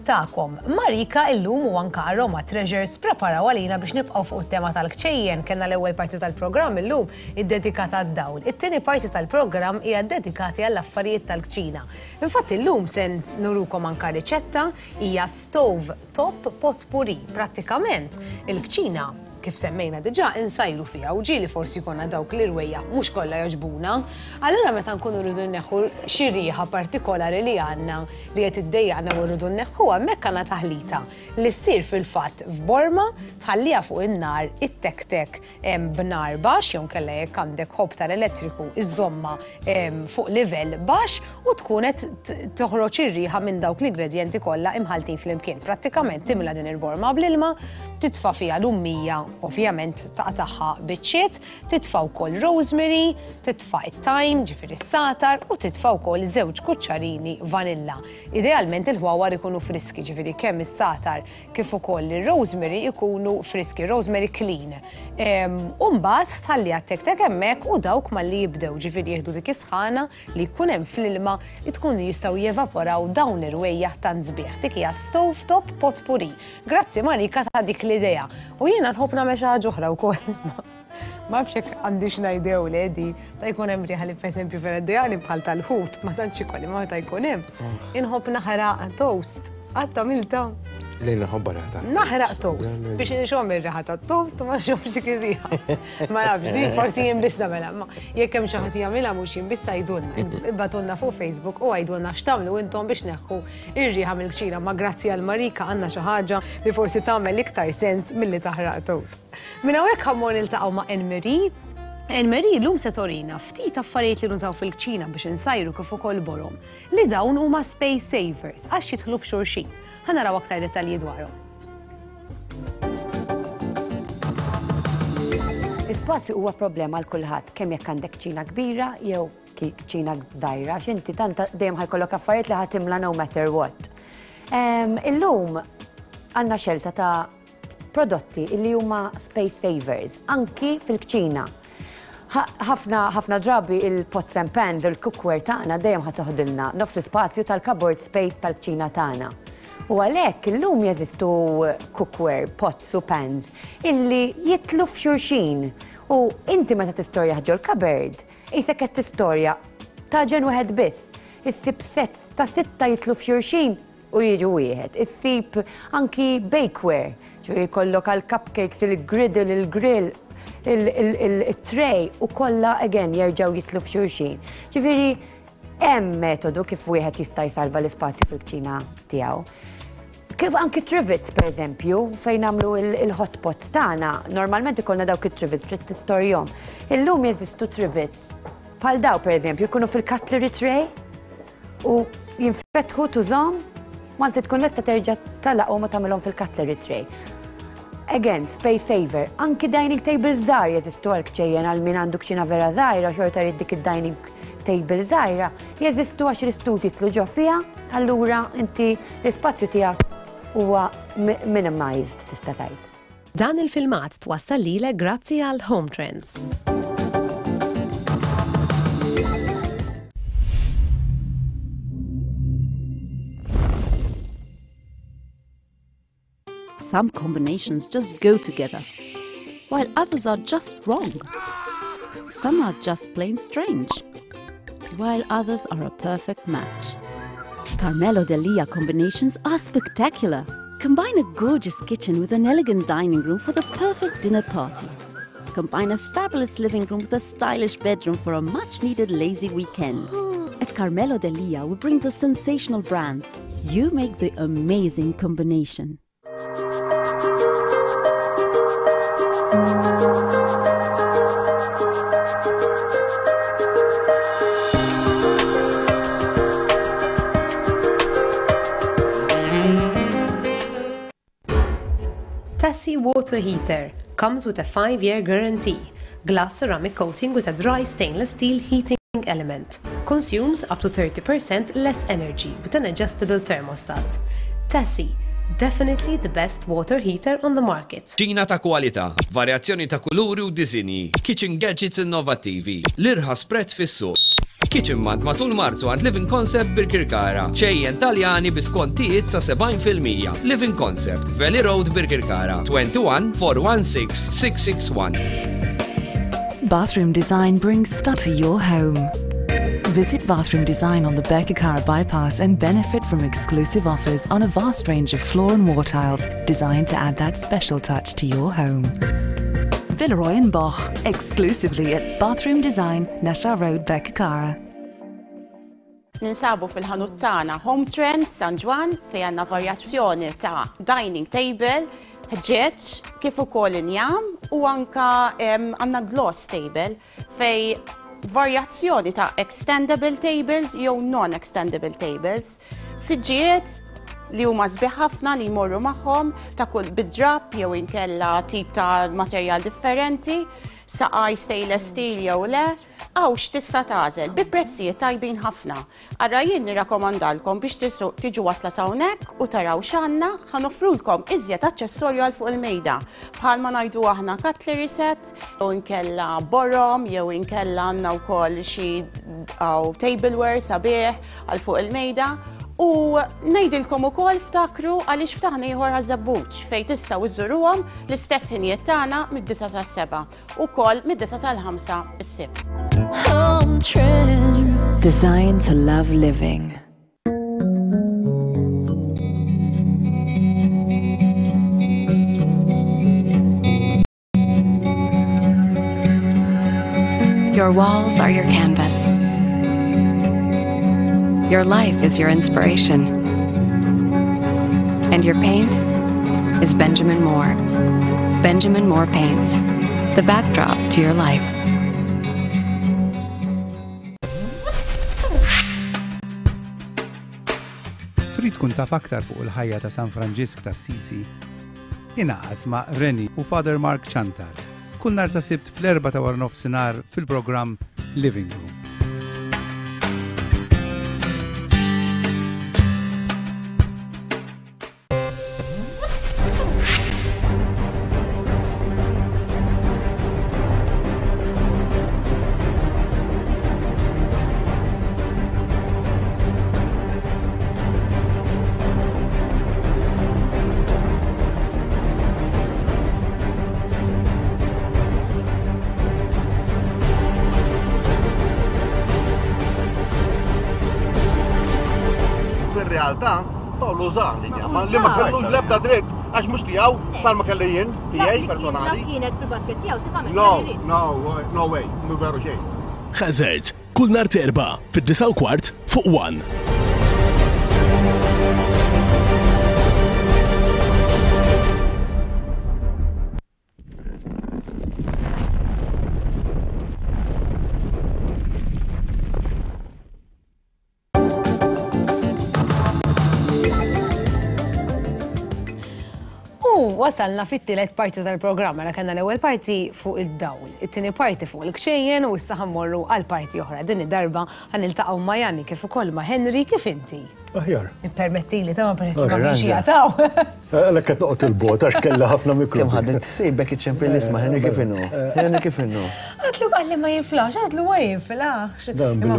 tagħkom. Marika illum u anka Aroma Treasures preparaw għalina biex nibqgħu fuq it-tema tal-kċejjen. Kellna l-ewwel parti tal-programm illum iddedikata għad-dawl. It-tieni parti tal-programm hija dedikati għall-affarijiet tal-kċina. Infatti illum se nurukom anka riċetta, hija stove top potpourri. Prattikament il-kċina, kif semmejna diġà, insajru fiha u ġieli forsi jkollna dawk l-irwejja mhux kollha jogħġbuna. Allura meta nkunu rridu nneħħu xi riħa partikolari li għandna li qed iddejjaqna u rridu nneħħuha, hemmhekk għandna taħlita li ssir fil-fatt f'borma, tħalliha fuq in-nar it-tek-tek em, b'nar baxx jew nkella jekk għandek hob tal-elettriku iżomma em, fuq livell baxx u tkun qed t- toħroġ ir-riħa minn dawk l-ingredjenti kollha imħaltin flimkien. Prattikament timla din il-borma bl-ilma, titfa' fiha l-ummija, ovvjament taqtagħha biċċiet, titfa' wkoll rosemary, titfa' it-thyme, ġifieri s-satar, u titfa' wkoll żewġ kuċċarini vanilla. Idealment il-ħwawar ikunu friski, ġifieri kemm is-satar kif ukoll ir-rosemary ikunu friski, rosemary clean. Em, U mbagħad tħalliha tek-tek hemmhekk u dawk malli jibdew ġifieri jieħdu dik is-sħana li jkun hemm fl-ilma tkun jistgħu jevaporaw dawn l-irwejjaħ tant sbieħ. Dik hija stove top potpourri. Grazzi Marika ta' dik l-idea. U jiena nħobb nagħmel xi ħaġa oħra wkoll. Ma nafx jekk għandix ngħidew le di, ta' jkun hemm riħa li pereżempju vera ideali bħal tal-ħut, ma tantx ikolli, ma ta' jkun hemm. Inħobb naħraq toast. Qatt għamilta? Lejn nħobba riħa tal. Naħraq toast biex nxomm ir-riħa tat-toast u ma nxommx dik ir-riħa. Ma nafx, din forsi jien biss nagħmilha, ma jekk hemm xi ħadd jagħmilha mhux jien biss għidulna. Ibagħtulna fuq Facebook u għidulna x'tagħmlu intom biex neħħu ir-riħa mill-kċina. Ma grazzi għal Marika għandna xi ħaġa li forsi tagħmel iktar sens milli taħraq toast. Minn hawnhekk ħa mmur niltaqgħu ma' Anne-Marie. Anne-Marie llum se torina ftit affarijiet li nużaw fil-kċina biex insajru kif ukoll borom li dawn huma space savers għax jidħlu f'xulxin. Ħa naraw aktar dettalji dwarhom. L-ispazju huwa problema għal kulħadd, kemm jekk għandek kċina kbira jew kċina żgħira, għax inti tant dejjem ħa jkollok affarijiet li ħa timla no matter what. Illum għandna xelta ta' prodotti li huma space savers, anki fil-kċina. Ħafna ħafna drabi il-pots and pans, il-cookware tagħna dejjem ħa toħdilna nofs l-ispazju tal-cupboard space tal-kċina tagħna. U għalhekk illum jeżistu cookware, pots u pans illi jidħlu f'xulxin. U inti meta tistorja ġol cupboard, qisek qed tistorja taġen wieħed biss. Issib set ta' sitta jidħlu f'xulxin u jiġu wieħed. Issib anki bakeware, ġifieri jkollok għal cupcakes, il-griddle, il-grill, il-tray u kollha again jerġgħu jidħlu f'xulxin. Ġifieri hemm metodu kif wieħed jista' jsalva l-ispazju fil-kċina tiegħu. Kif anki trivets, per eżempju, fejn nagħmlu il-hot pot tagħna, normalment ikollna dawk it-trivets trid tistorjhom. Illum jeżistu trivets bħal daw, per eżempju, jkunu fil-cutlery tray u jinfetħu tużhom, ma inti tkun lesta terġa' tagħlaqhom u tagħmilhom fil-cutlery tray. Again, space saver. Anki dining table żgħar jeżistu għal kċejjen għal min għandu kċina vera żgħira, xorta jrid dik id-dining table żgħira, jeżistu għax l-istus jidħlu ġo fiha, allura inti l-ispazju tiegħek huwa minimized tista' tgħid. Dan il-filmat twassal lilek grazzi għal Home Trends. Some combinations just go together, while others are just wrong. Some are just plain strange, while others are a perfect match. Carmelo Delia combinations are spectacular. Combine a gorgeous kitchen with an elegant dining room for the perfect dinner party. Combine a fabulous living room with a stylish bedroom for a much-needed lazy weekend. At Carmelo Delia, we bring the sensational brands. You make the amazing combination. Tassi water heater comes with a five-year guarantee. Glass ceramic coating with a dry stainless steel heating element. Consumes up to thirty percent less energy with an adjustable thermostat. Tassi, definitely the best water heater on the market. Kċina ta' kwalità, varjazzjoni ta' kuluri u disinji, kitchen gadgets innovattivi, l-irħas prezz fis-suq. Kitchen Month matul Marzu għand Living Concept Birkirkara. Kċejjen Taljani bi skontijiet sa sebgħin fil-mija. Living Concept, Valley Road Birkirkara, twenty-one four one six six six one. Bathroom Design brings style to your home. Visit Bathroom Design on the Birkirkara bypass and benefit from exclusive offers on a vast range of floor and wall tiles designed to add that special touch to your home. Villeroy and Boch, exclusively at Bathroom Design, Naxxar Road, Birkirkara. Ninsabu fil-ħanut tagħna Home Trend San Ġwann fejn għandna varjazzjoni ta' dining table, ħġieġ, kif ukoll injam u anka, em, għandna gloss table fej varjazzjoni ta' extendable tables jew non-extendable tables. Siġġijiet li huma sbieħ ħafna li jmorru magħhom ta' kull bid-drap jew inkella tip ta' materjal differenti, saqaj stainless steel jew le, għaw x'tista' tagħżel bi prezzijiet tajbin ħafna. Ara jien nirrakkomandalkom biex tisu-, tiġu wasla s'hawnhekk u taraw x'għandna, ħa noffrulkom iżjed aċċessorju għal fuq il-mejda. Bħalma ngħidu aħna cutlery set, jew inkella borom, jew inkella għandna wkoll xi għaw tableware sabiħ għal fuq il-mejda. U ngħidilkom ukoll ftakru għaliex ftaħna ieħor għaż-żabbuġ fejn tistgħu iżżuruhom l-istess ħinijiet tagħna mid-disa sas-seba' ukoll mid-disa sal-ħamsa s-sibt. Home Trends. Designed to love living. Your walls are your canvas. Your life is your inspiration. And your paint is Benjamin Moore. Benjamin Moore Paints, the backdrop to your life. Trid tkun taf aktar fuq il-ħajja ta' San Franġisk ta' Assisi? Ingħaqad ma' Reni u Father Mark Ciantar kull nhar ta' Sibt fl-erbgħa ta' wara nofsinhar fil-programm Living Room. Fir-realtà, Paolo uża l-injama li ma kellu l-ebda dritt għax mhux tiegħu bħalma kelli jien tiegħi personali. Kienet fil-basket tiegħu se tagħmel. No, no, no way, mhu veru xejn. Hazard, kull nhar t'Erbgħa fid-disgħa u kwart fuq One. U wasalna fit-tielet parti tal-programm, mela kellna l-ewwel parti fuq id-dawl, it-tieni parti fuq il-kċejjen u issa ħa mmorru għal parti oħra. Din id-darba ħa niltaqgħu ma' Janni kif ukoll ma' Henry. Kif inti? Aħjar. Ippermettili ta' ma peress li ma kienx jataw. Għalhekk qed noqgħod il-bot għax kellha ħafna mikro. Kemm ħadet ħsiebek iċċempel l-isma' Henry kif inhu? Henry kif inhu? Għatlu qalli ma jinflaħx, għatlu ma jinflaħx. Dan billi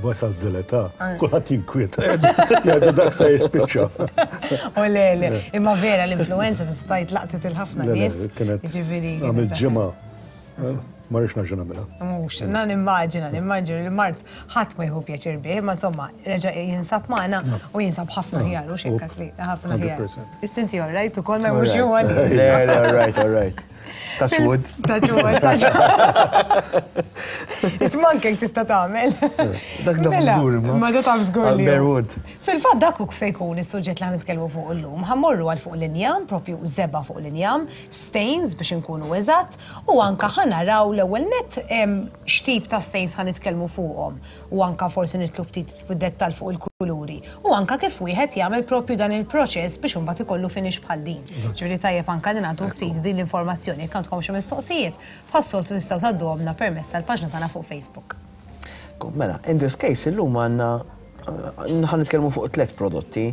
wasalt dil-età, kulħadd jinkwieta. Jgħidu dak se jispiċċa. U le, le, imma vera l-influenza tista' jitlaqtet il-ħafna nies. Ġifieri. Għamil ġimgħa. Ma rridx nerġa' nagħmilha. Mhux, na nimmaġina, nimmaġina li mart ħadd ma jieħu pjaċir bih, imma insomma, reġa' jinsab magħna u jinsab ħafna ħjar u xekkas li ħafna ħjar. Is-sinti all right ukoll ma jmurx jew Le, le, all right, all right. Touch wood. Touch wood, touch wood. Isma' anke tista' tagħmel. Dak taf żgur imma. Ma da taf żgur li. Bare wood. Fil-fatt dak hu se jkun is-suġġett li ħa nitkellmu fuq illum. Ħa mmorru għal fuq l-injam, propju żebgħa fuq l-injam, stains biex inkunu eżatt, u anka ħa naraw l-ewwel net x'tip ta' stains ħa nitkellmu fuqhom u anka forsi nitlu ftit fid-dettall fuq il-kuluri u anka kif wieħed jagħmel propju dan il-proċess biex imbagħad ikollu finish bħal din. Ġifieri tajjeb anka li nagħtu ftit din l-informazzjoni jekk għandkom xi mistoqsijiet, bħas-soltu tistgħu tgħadduhomna permezz tal-paġna tagħna fuq Facebook. Mela, in this case illum għandna ħa nitkellmu fuq tliet prodotti.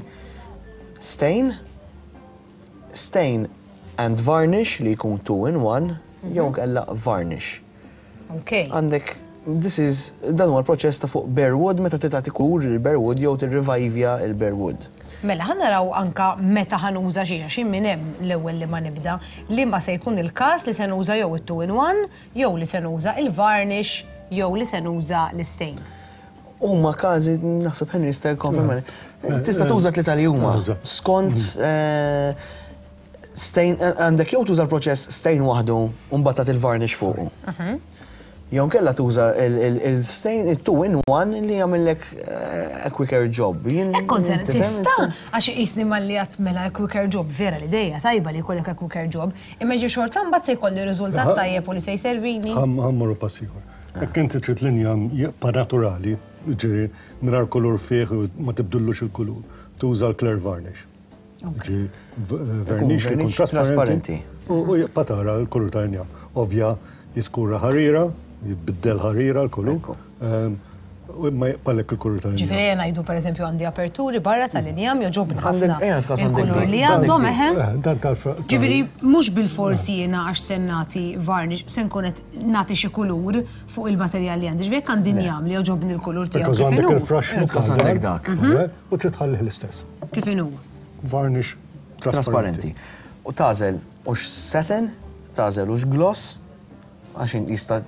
Stain, stain and varnish li jkun two in one, jew kella varnish. Okay. Għandek, this is, dan huwa l-proċess ta' fuq bare wood meta titgħati kur il-bare wood jew tirrevivja il-bare wood. Mela, ħa naraw anka meta ħa nuża xi għax minn hemm l-ewwel li ma nibda li ma se jkun il-każ li se nuża jew it-two in one, jew li se nuża il-varnish, jew li se nuża l-stain. Huma każi naħseb Henry jista' jikkonferma. Tista' tuża tlieta li huma. Skont stain għandek jew tuża l-proċess stain waħdu u mbagħad tagħti il-varnish fuqu. Jew kella tuża il-stain il-two in one li jagħmellek a quicker job. Ekkon se tista' għax qisni malli għat mela a quicker job vera l-idea tajba li jkollek a quicker job, imma ġi xorta mbagħad se jkolli riżultat tajjeb u li se jservini. Ħa mmorru pass ieħor. Jekk inti trid l-injam jibqa' naturali, ġifieri mingħajr kulur fih u ma tibdullux il-kulur, tuża l-clear varnish. Ġifieri vernish li jkun trasparenti u jibqa' tara l-kulur tal-injam. Ovvja jiskura ħarira, jitbiddel ħarira l-kulur, u imma jibqalek il-kulur tal-injam. Ġifieri ngħidu pereżempju għandi aperturi barra tal-injam jogħġobni ħafna il-kulur li għandhom eħe. Ġifieri mhux bilforsi jiena għax se nagħti varnish, se nkun qed nagħti xi kulur fuq il-materjal li għandi. Ġifieri jekk għandi injam li jogħġobni l-kulur tiegħu. Because għandek il-fraxx għandek dak. U trid tħallih l-istess. Kif inhu? Varnish trasparenti. U tagħżel hux satin, tagħżel hux gloss, għax jista'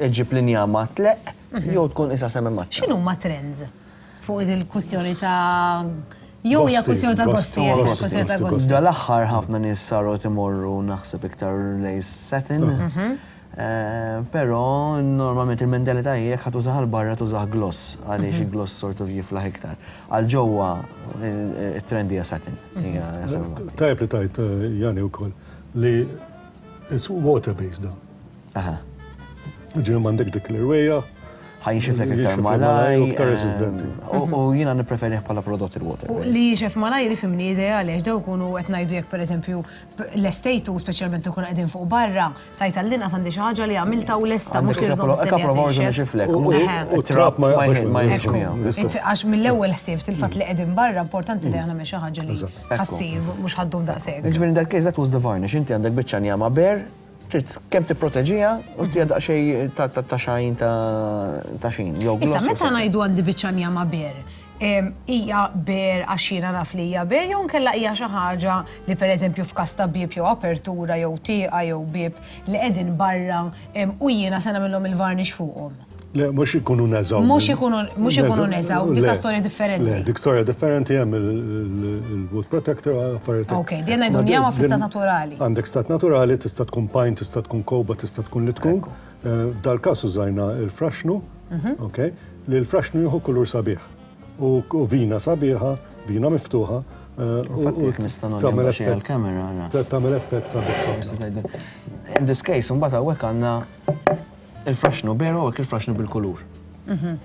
iġib l-injama tleq, jew tkun isa semmi maċċa. X'inhuma trends fuq il-kwistjoni ta' jew hija kwistjoni ta' gosti, kwistjoni ta' gosti. Dal-aħħar ħafna nies saru timorru naħseb iktar lej satin. Eh, Però normalment il-mentalità hija jekk ħa tużah għal barra tużah gloss, għaliex Mhm. il-gloss sort of jiflaħ iktar. Għal ġewwa il-trend hija satin. hija semi-matte. Tajb li tajt eh, Jani wkoll li it's water based dan. Aha. Ġifieri m'għandek dik l-irwejja. Ħa jinxiflek iktar Jinxiflek malaj. u iktar resistenti. U u jiena nippreferih bħala prodott il-water U based. li jinxef malajr ifhimni ideali, għax daw kunu qed ngħidu jekk pereżempju l-estejtu speċjalment ikun qegħdin fuq barra, tajt għall-inqas għandi xi ħaġa li għamilta u lesta Għandek mhux li a couple of hours u nixiflek, U- mhux u trab ma jaqbax ma minnu. jinxifx miegħu. Għax mill-ewwel ħsibt il-fatt li qegħdin barra importanti li aħna xi ħaġa li ħassir mhux ħa ddum daqshekk. Ġifieri in that case that was the varnish, inti għandek biċċa njama bare, trid kemm tipproteġiha u tija daqsxejn ta' ta' ta' xajn ta' ta' xin. Jew Issa gloss jew meta satin. ngħidu għandi biċċa njama bare, em, hija bare għax jiena naf li hija bare jew nkella hija xi ħaġa li pereżempju f'każ ta' bieb jew apertura jew tieqa jew bieb li qegħdin barra em, u jiena se nagħmilhom il-varnish fuqhom. Le, mhux ikunu neżaw. Mhux ikunu- mhux ikunu neżaw, dik Le, storja differenti. Le, dik storja differenti hemm il-wood protector, affarijiet. Ok, din ngħidu Ma njama din- fi stat naturali. Għandek stat naturali, tista' tkun pine, tista' tkun kowba, tista' tkun li tkun. Eh, F'dal-każ użajna il-fraxnu, Mhm. ok, li l-fraxnu jieħu kulur sabiħ. U u vina sabiħa, vina miftuħa. eh, u- Infatti u jekk nista' tagħmel nagħmel xi effett- għall-kamera. ara. Tagħmel effett sabiħ ħafna. In this case, mbagħad hawnhekk għandna il-fraxnu bare u hekk il-fraxnu bil-kulur. Mhm.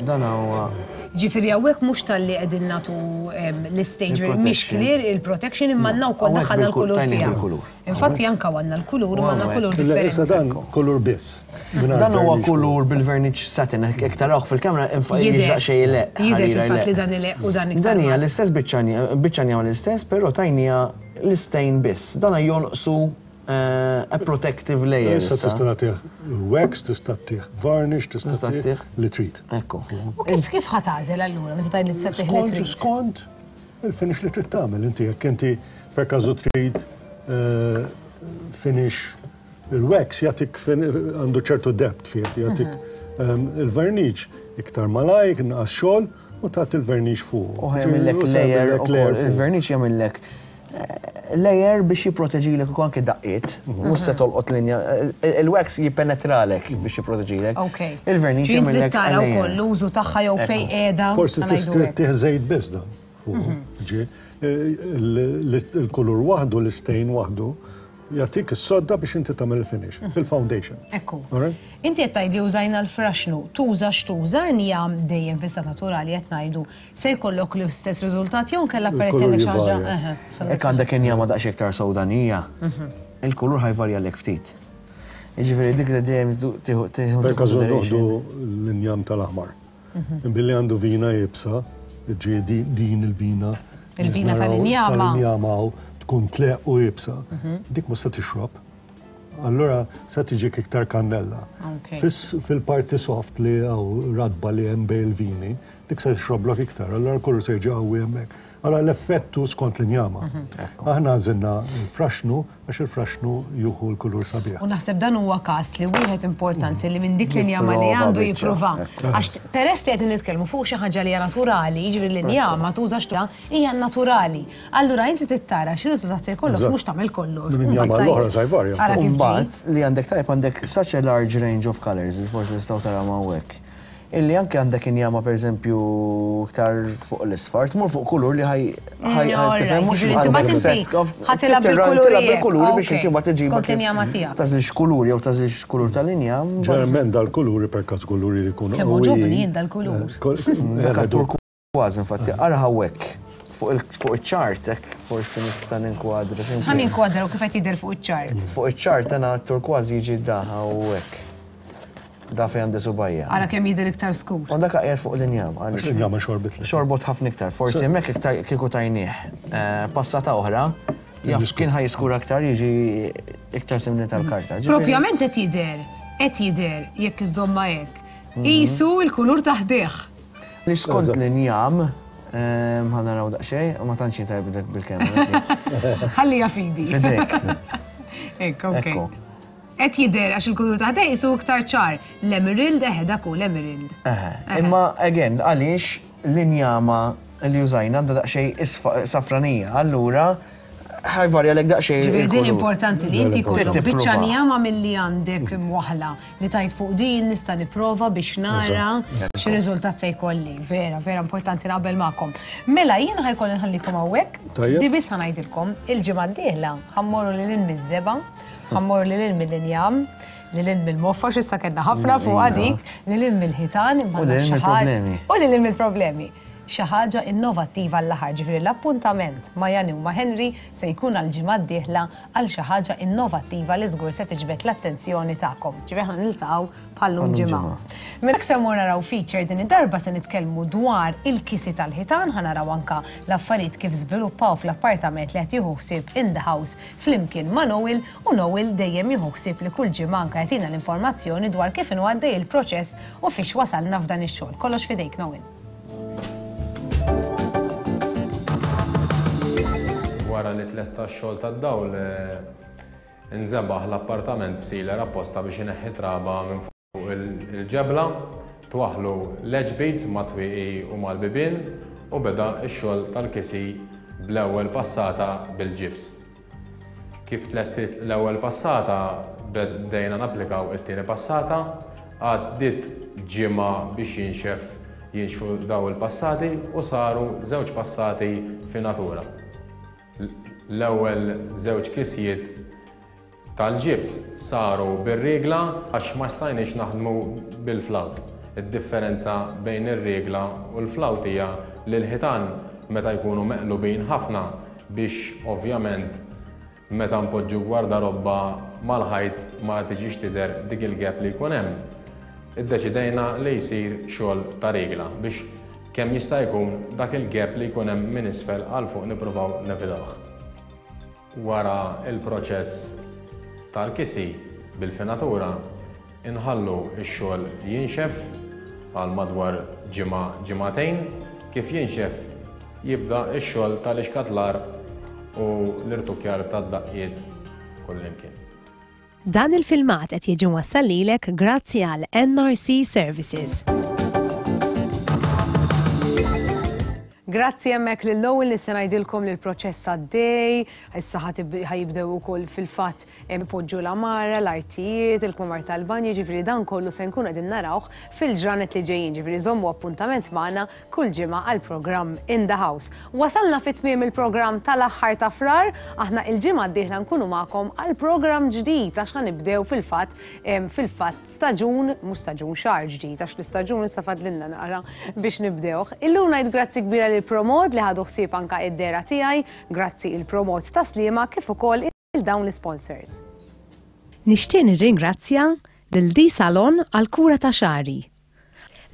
Dan huwa Ġifieri hawnhekk mhux talli qegħdin nagħtu em, l-stage Il-protection. mhix clear il-protection imma għandna wkoll Hawnhekk daħħalna bil-kul- l-kulur tajnieh fiha. bil-kulur. Infatti anke għandna l-kulur u għandna kulur Le, issa differenti. dan kulur biss. mingħajr Dan huwa varnish. kulur bil-varnish satin, jekk tarawh fil-kamera Jidher. jiġraq xejn ileq. Jidher ħarira fil-fatt ileq. li dan ileq u dan iktar. Dan hija l-istess biċċa biċċa l-istess, però tajnija l-istain biss. Dan jonqsu eh, a protective layer. Issa issa. tista' nagħtih wax, tista' tih varnish, tista' Tista' tih tih. li trid. Ekku. U kif kif ħa tagħżel allura meta tgħid li tista' tih li Skont, trid? skont il-finish li trid tagħmel inti jekk inti per każu trid eh, finish il-wax jagħtik fin- għandu ċertu depth fih, jagħtik Mhm. ehm, il-varnish iktar malajk, inqas xogħol u tagħti il-varnish fuq. U ħa jagħmillek U se layer jagħmillek ukoll. layer fuq. Il-verniċ jagħmillek eh, layer biex jipproteġilek ukoll anke daqqiet, mhux se tolqot linja. eh, Il-wax jippenetralek biex jipproteġilek. Ok. Il-verniċ Ġifieri jagħmillek tara layer. wkoll l-użu tagħha jew fejn qiegħda. Forsi ħa ngħidu tista' hekk. tih żejt biss dan. fuq. Ġi, eh, il- Il-kulur waħdu, l-istain waħdu, jagħtik is-sodda biex inti tagħmel il-finish, il-foundation. Ekku. Alright? Inti qed tgħidli użajna l-fraxnu, tuża x'tuża njam dejjem fi stat naturali qed ngħidu se jkollok l-istess riżultat jew nkella peress li Il-kulur għandek xi ħaġa. jivarja. Eħe, sa Jekk għandek injama daqsxejn iktar sewdanija, il-kulur ħa jvarjalek ftit. Jiġifieri dik li dejjem tieħu tieħu Per każu consideration. noħdu l-injam tal-aħmar. Billi għandu vina iebsa, ġi di- din il-vina. Il-vina naraw tal-injama. Tal-injama hawn tkun tleq u iebsa. Dik mhux se tixrob. Allora se tiġik iktar kannella. Ok. Fis- Fil-parti soft li għaw radba li hemm bej il-vini, dik se tixroblok iktar, allora kulur se jiġi qawwi hemmhekk. Allora l-effettu skont l-injama. Aħna għażilna il-fraxnu għax il-fraxnu juhu l-kulur sabiħ. U naħseb dan huwa każ li wieħed importanti li minn dik l-injama li Jipprova għandu biċċa, jipprova. ekku. Għax peress li qegħdin nitkellmu fuq xi ħaġa li hija naturali, jiġifieri l-injama tuża x'tuża hija naturali. Allura inti tittara xi riżultat se jkollok Eżatt. mhux tagħmel kollox. Minn injama Mbagħad l-oħra tgħid, sa jvarja. Ara kif ġi. Mbagħad li għandek tajb għandek such a large range of colors li forsi nistgħu taraw hawnhekk. Illi anke għandek injama pereżempju iktar fuq l-isfar, tmur fuq kulur li ħaj ħaj Mm, alright, tifhem mhux ġifieri inti għandek mbagħad inti set of- ħa tilgħab tilgħab bil-kuluri bil-kuluri hekk, biex inti mbagħad tiġiba Skont kif l-injama tiegħek. Tagħżilx kulur jew tagħżilx kulur tal-injam. Ġeneralment dal-kuluri per każ kuluri li jkunu Kemm għoġobni jien dal-kulur. Dak turkważ infatti, ara hawnhekk fuq il- fuq iċ-chart hekk forsi nista' ninkwadra. Ħa ninkwadraw kif qed jidher fuq iċ-chart. Fuq iċ-chart dana turkważ jiġi da hawnhekk. Da fejn għandi subgħajja. Ara kemm jidher iktar skur. U dak qiegħed fuq l-injam. Għax l-injama xorbit li. Xorbot ħafna iktar. Forsi hemmhekk iktar kieku tajnieh. Eh, Passata oħra, jaf kien ħa jiskura aktar jiġi iktar simili tal-karta. Ġifieri- Propjament qed jidher, qed jidher jekk iżomma hekk. Isu l-kulur taħdih. Li skont l-injam, ehm, ħa naraw daqsxejn, u ma tantx tajb dak bil-kamera. sì. Ħallija fidi. Fidejk. Ekk, ok. Ekku. Qed jidher għax il-kulur taħdih isu iktar ċar. L-emerald, eħe dak hu l-emerald. Eħe. Imma, again, għaliex l-injama li użajna għandha daqsxejn isfa- safranija. Allura, Ħa jvarja lek daqsxejn. Ġifieri din il-kulur. Importanti li inti Trid jkollok biċċa tipprova. njama milli għandek mwaħla li tajt fuq din nista' nipprova biex nara x'riżultat se jkolli. Vera, vera importanti, naqbel magħkom. Mela jiena ħa jkolli nħallikom hawnhekk. Tajjeb. Di biss ħa ngħidilkom, il-ġimgħa d-dieħla ħa mmorru lil hinn miż-żebgħa, ħa mmorru lil hinn mill-injam, lil hinn mill-moffa, x'issa kellna ħafna fuq dik, lil hinn mill-ħitan, imma U lil hinn xi ħaġa- mill-problemi. U lil hinn mill-problemi. Xi ħaġa innovattiva l-aħħar, ġifieri l-appuntament ma' Jani u ma' Henry se jkun għal ġimgħa d-dieħla għal xi ħaġa innovattiva li żgur se tiġbed l-attenzjoni tagħkom. Ġifieri aħna niltaqgħu bħallum Bħallum ġimgħa. ġimgħa. Mela se mmur naraw feature, din id-darba se nitkellmu dwar il-kisi tal-ħitan, ħa naraw anka l-affarijiet kif żviluppaw fl-appartament li qed jieħu ħsieb In the House flimkien ma' Noel, u Noel dejjem jieħu ħsieb li kull ġimgħa anka jagħtina l-informazzjoni dwar kif inhu għaddej il-proċess u fiex wasalna f'dan ix-xogħol. Kollox fidejk, Noel. Wara li tlesta x-xogħol tad-dawl, eh, nżebaħ l-appartament b'sealer apposta biex ineħħi traba minn fuq il- il-ġebla, twaħlu l-edge beads ma' twieqi u mal-bibien u beda x-xogħol tal-kisi bl-ewwel passata bil-ġibs. Kif tlestit l-ewwel passata, bdejna napplikaw it-tieni passata, għaddiet ġimgħa biex jinxef jinxfu daw il-passati u saru żewġ passati finatura. L-ewwel żewġ kisjiet tal-ġibs saru bir-rigla għax ma stajniex naħdmu bil-flawt. Id-differenza bejn ir-rigla u l-flawt hija li l-ħitan meta jkunu meqlubin ħafna, biex ovvjament meta npoġġu gwardarobba mal-ħajt ma tiġix tidher dik il-gap li jkun hemm. Iddeċidejna li jsir xogħol ta' rigla biex kemm jista' jkun dak il-gap li jkun hemm minn isfel għal fuq nippruvaw nevitawh. Wara il-proċess tal-kisi bil-finatura, inħallu x-xogħol jinxef għal madwar ġimgħa, ġimagħtejn. Kif jinxef jibda x-xogħol tal-ixkatlar u l-irtukjar tad-daqqiet kullimkien. Dan il-filmat qed jiġi wassal lilek grazzi għal N R C Services. Grazzi hemmhekk lil Noel li se ngħidilkom li l-proċess għaddej, issa ħa jibdew ukoll fil-fatt ipoġġu l-għamara, l-artijiet, il-kmamar tal-banju, ġifieri dan kollu se nkunu qegħdin narawh fil-ġranet li ġejjin, ġifieri żommu appuntament magħna kull ġimgħa għal programm In the House. Wasalna fit tmiem il-programm tal-aħħar ta' Frar, aħna il-ġimgħa d-dieħla nkunu magħkom għal programm ġdid għax ħa nibdew fil-fatt fil-fatt staġun, mhux staġun, xahar ġdid, għax l-istaġun issa fadlilna naqra biex nibdewh. Illum ngħid grazzi kbira lil Promod li ħadu ħsieb anka id-dehra tiegħi, grazzi il-Promod ta' Sliema kif ukoll il dawn l-sponsors. Nixtieq nirringrazzja lil D Salon għal kura ta' xagħri,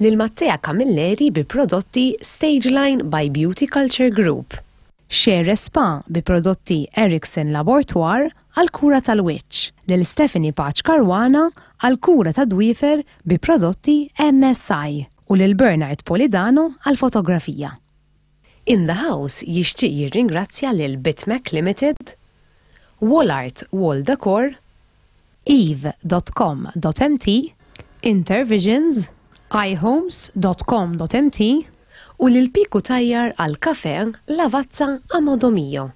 lil Mattea Camilleri bi prodotti Stageline by Beauty Culture Group, Share Spa bi prodotti Ericsson Laboratoire għal kura tal-wiċċ, lil Stephanie Paċ Caruana għal kura ta' dwifer bi prodotti N S I u lil Bernard Polidano għal fotografija. In the House jixtieq jirringrazzja lil Bitmac Limited, Wallart Wall Decor, eve dot com dot M T, Intervisions, iHomes dot com dot M T u lil Piku Tajjar għal kafe Lavazza a Modo Mio.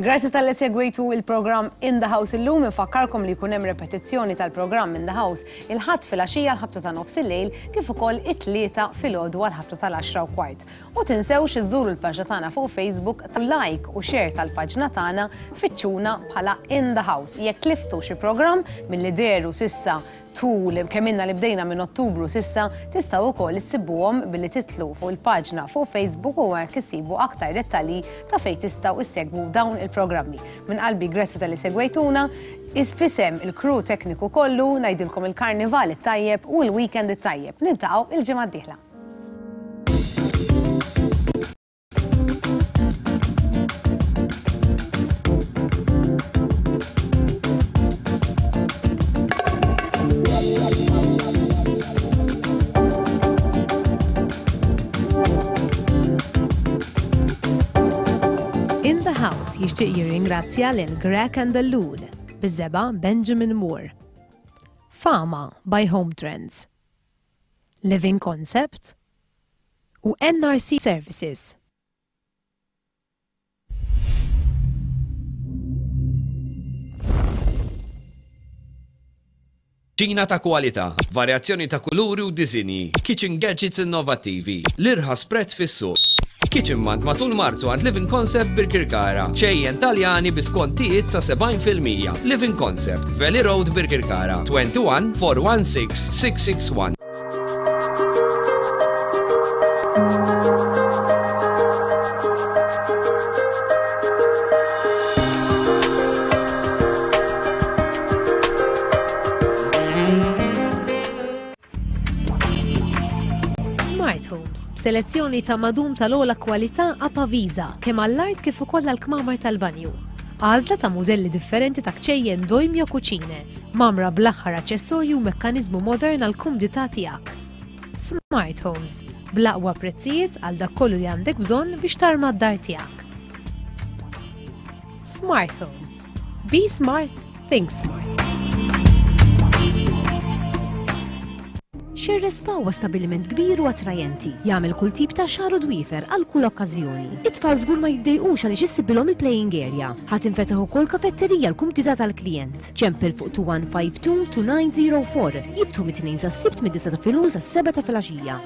Grazzi talli segwejtu il-programm In the House illum. Infakkarkom li jkun hemm repetizzjoni tal-programm In the House il-Ħadd filgħaxija l-ħabta ta' nofs il-lejl kif ukoll it-Tlieta filgħodu għal-ħabta tal-għaxra u kwart. U tinsewx iżżuru l-paġna tagħna fuq Facebook, like u share tal-paġna tagħna, fittxuna bħala In the House. Jekk tliftu xi programm milli dehru s'issa tul kemm ilna li bdejna minn Ottubru s'issa, tistgħu wkoll issibuhom billi titilgħu fuq il-paġna fuq Facebook u hekk issibu aktar dettalji ta' fejn tistgħu issegwu dawn il-programmi. Minn qalbi grazzi talli segwejtuna, f'isem il-crew tekniku kollu ngħidilkom il-karnival it-tajjeb u l-weekend it-tajjeb. Niltaqgħu il-ġimgħa d-dieħla. In the House jixtieq jirringrazzja lil Greg and Lul, biż-żebgħa Benjamin Moore, Fama by Home Trends, Living Concept u N R C Services. Kċina ta' kwalità, varjazzjoni ta' kuluri u disinji, kitchen gadgets innovattivi, l-irħas prezz fis-suq. Kitchen Month matul Marzu għand Living Concept Birkirkara. Kċejjen Taljani bi skontijiet sa sebgħin fil-mija. Living Concept, Valley Road, Birkirkara, twenty-one four one six six six one. Smart Homes, b'selezzjoni ta' madum tal-ogħla kwalità Apavisa, kemm għall-art kif ukoll għall-kmamar tal-banju. Għażla ta' mudelli differenti ta' kċejjen Doimio Cucine, mgħammra bl-aħħar aċessorju u mekkaniżmu modern għal kumdità tiegħek. Smart Homes, bl-aqwa prezzijiet għal dak kollu li għandek bżonn biex tarma d-dar tiegħek. Smart Homes. Be smart, think smart. Xerre Spa huwa stabiliment kbir u attrajenti. Jagħmel kull tip ta' xagħar u dwiefer għal kull okkażjoni. It-tfal żgur ma jiddejqux għaliex issibilhom il-playing area. Ħa tinfetaħ ukoll kafetterija l-kumdità tal-klient. Ċempel fuq two one five two two nine zero four. Jiftħu mit-Tnejn sas-Sibt mid-disgħa ta' filgħodu sas-sebgħa ta' filgħaxija.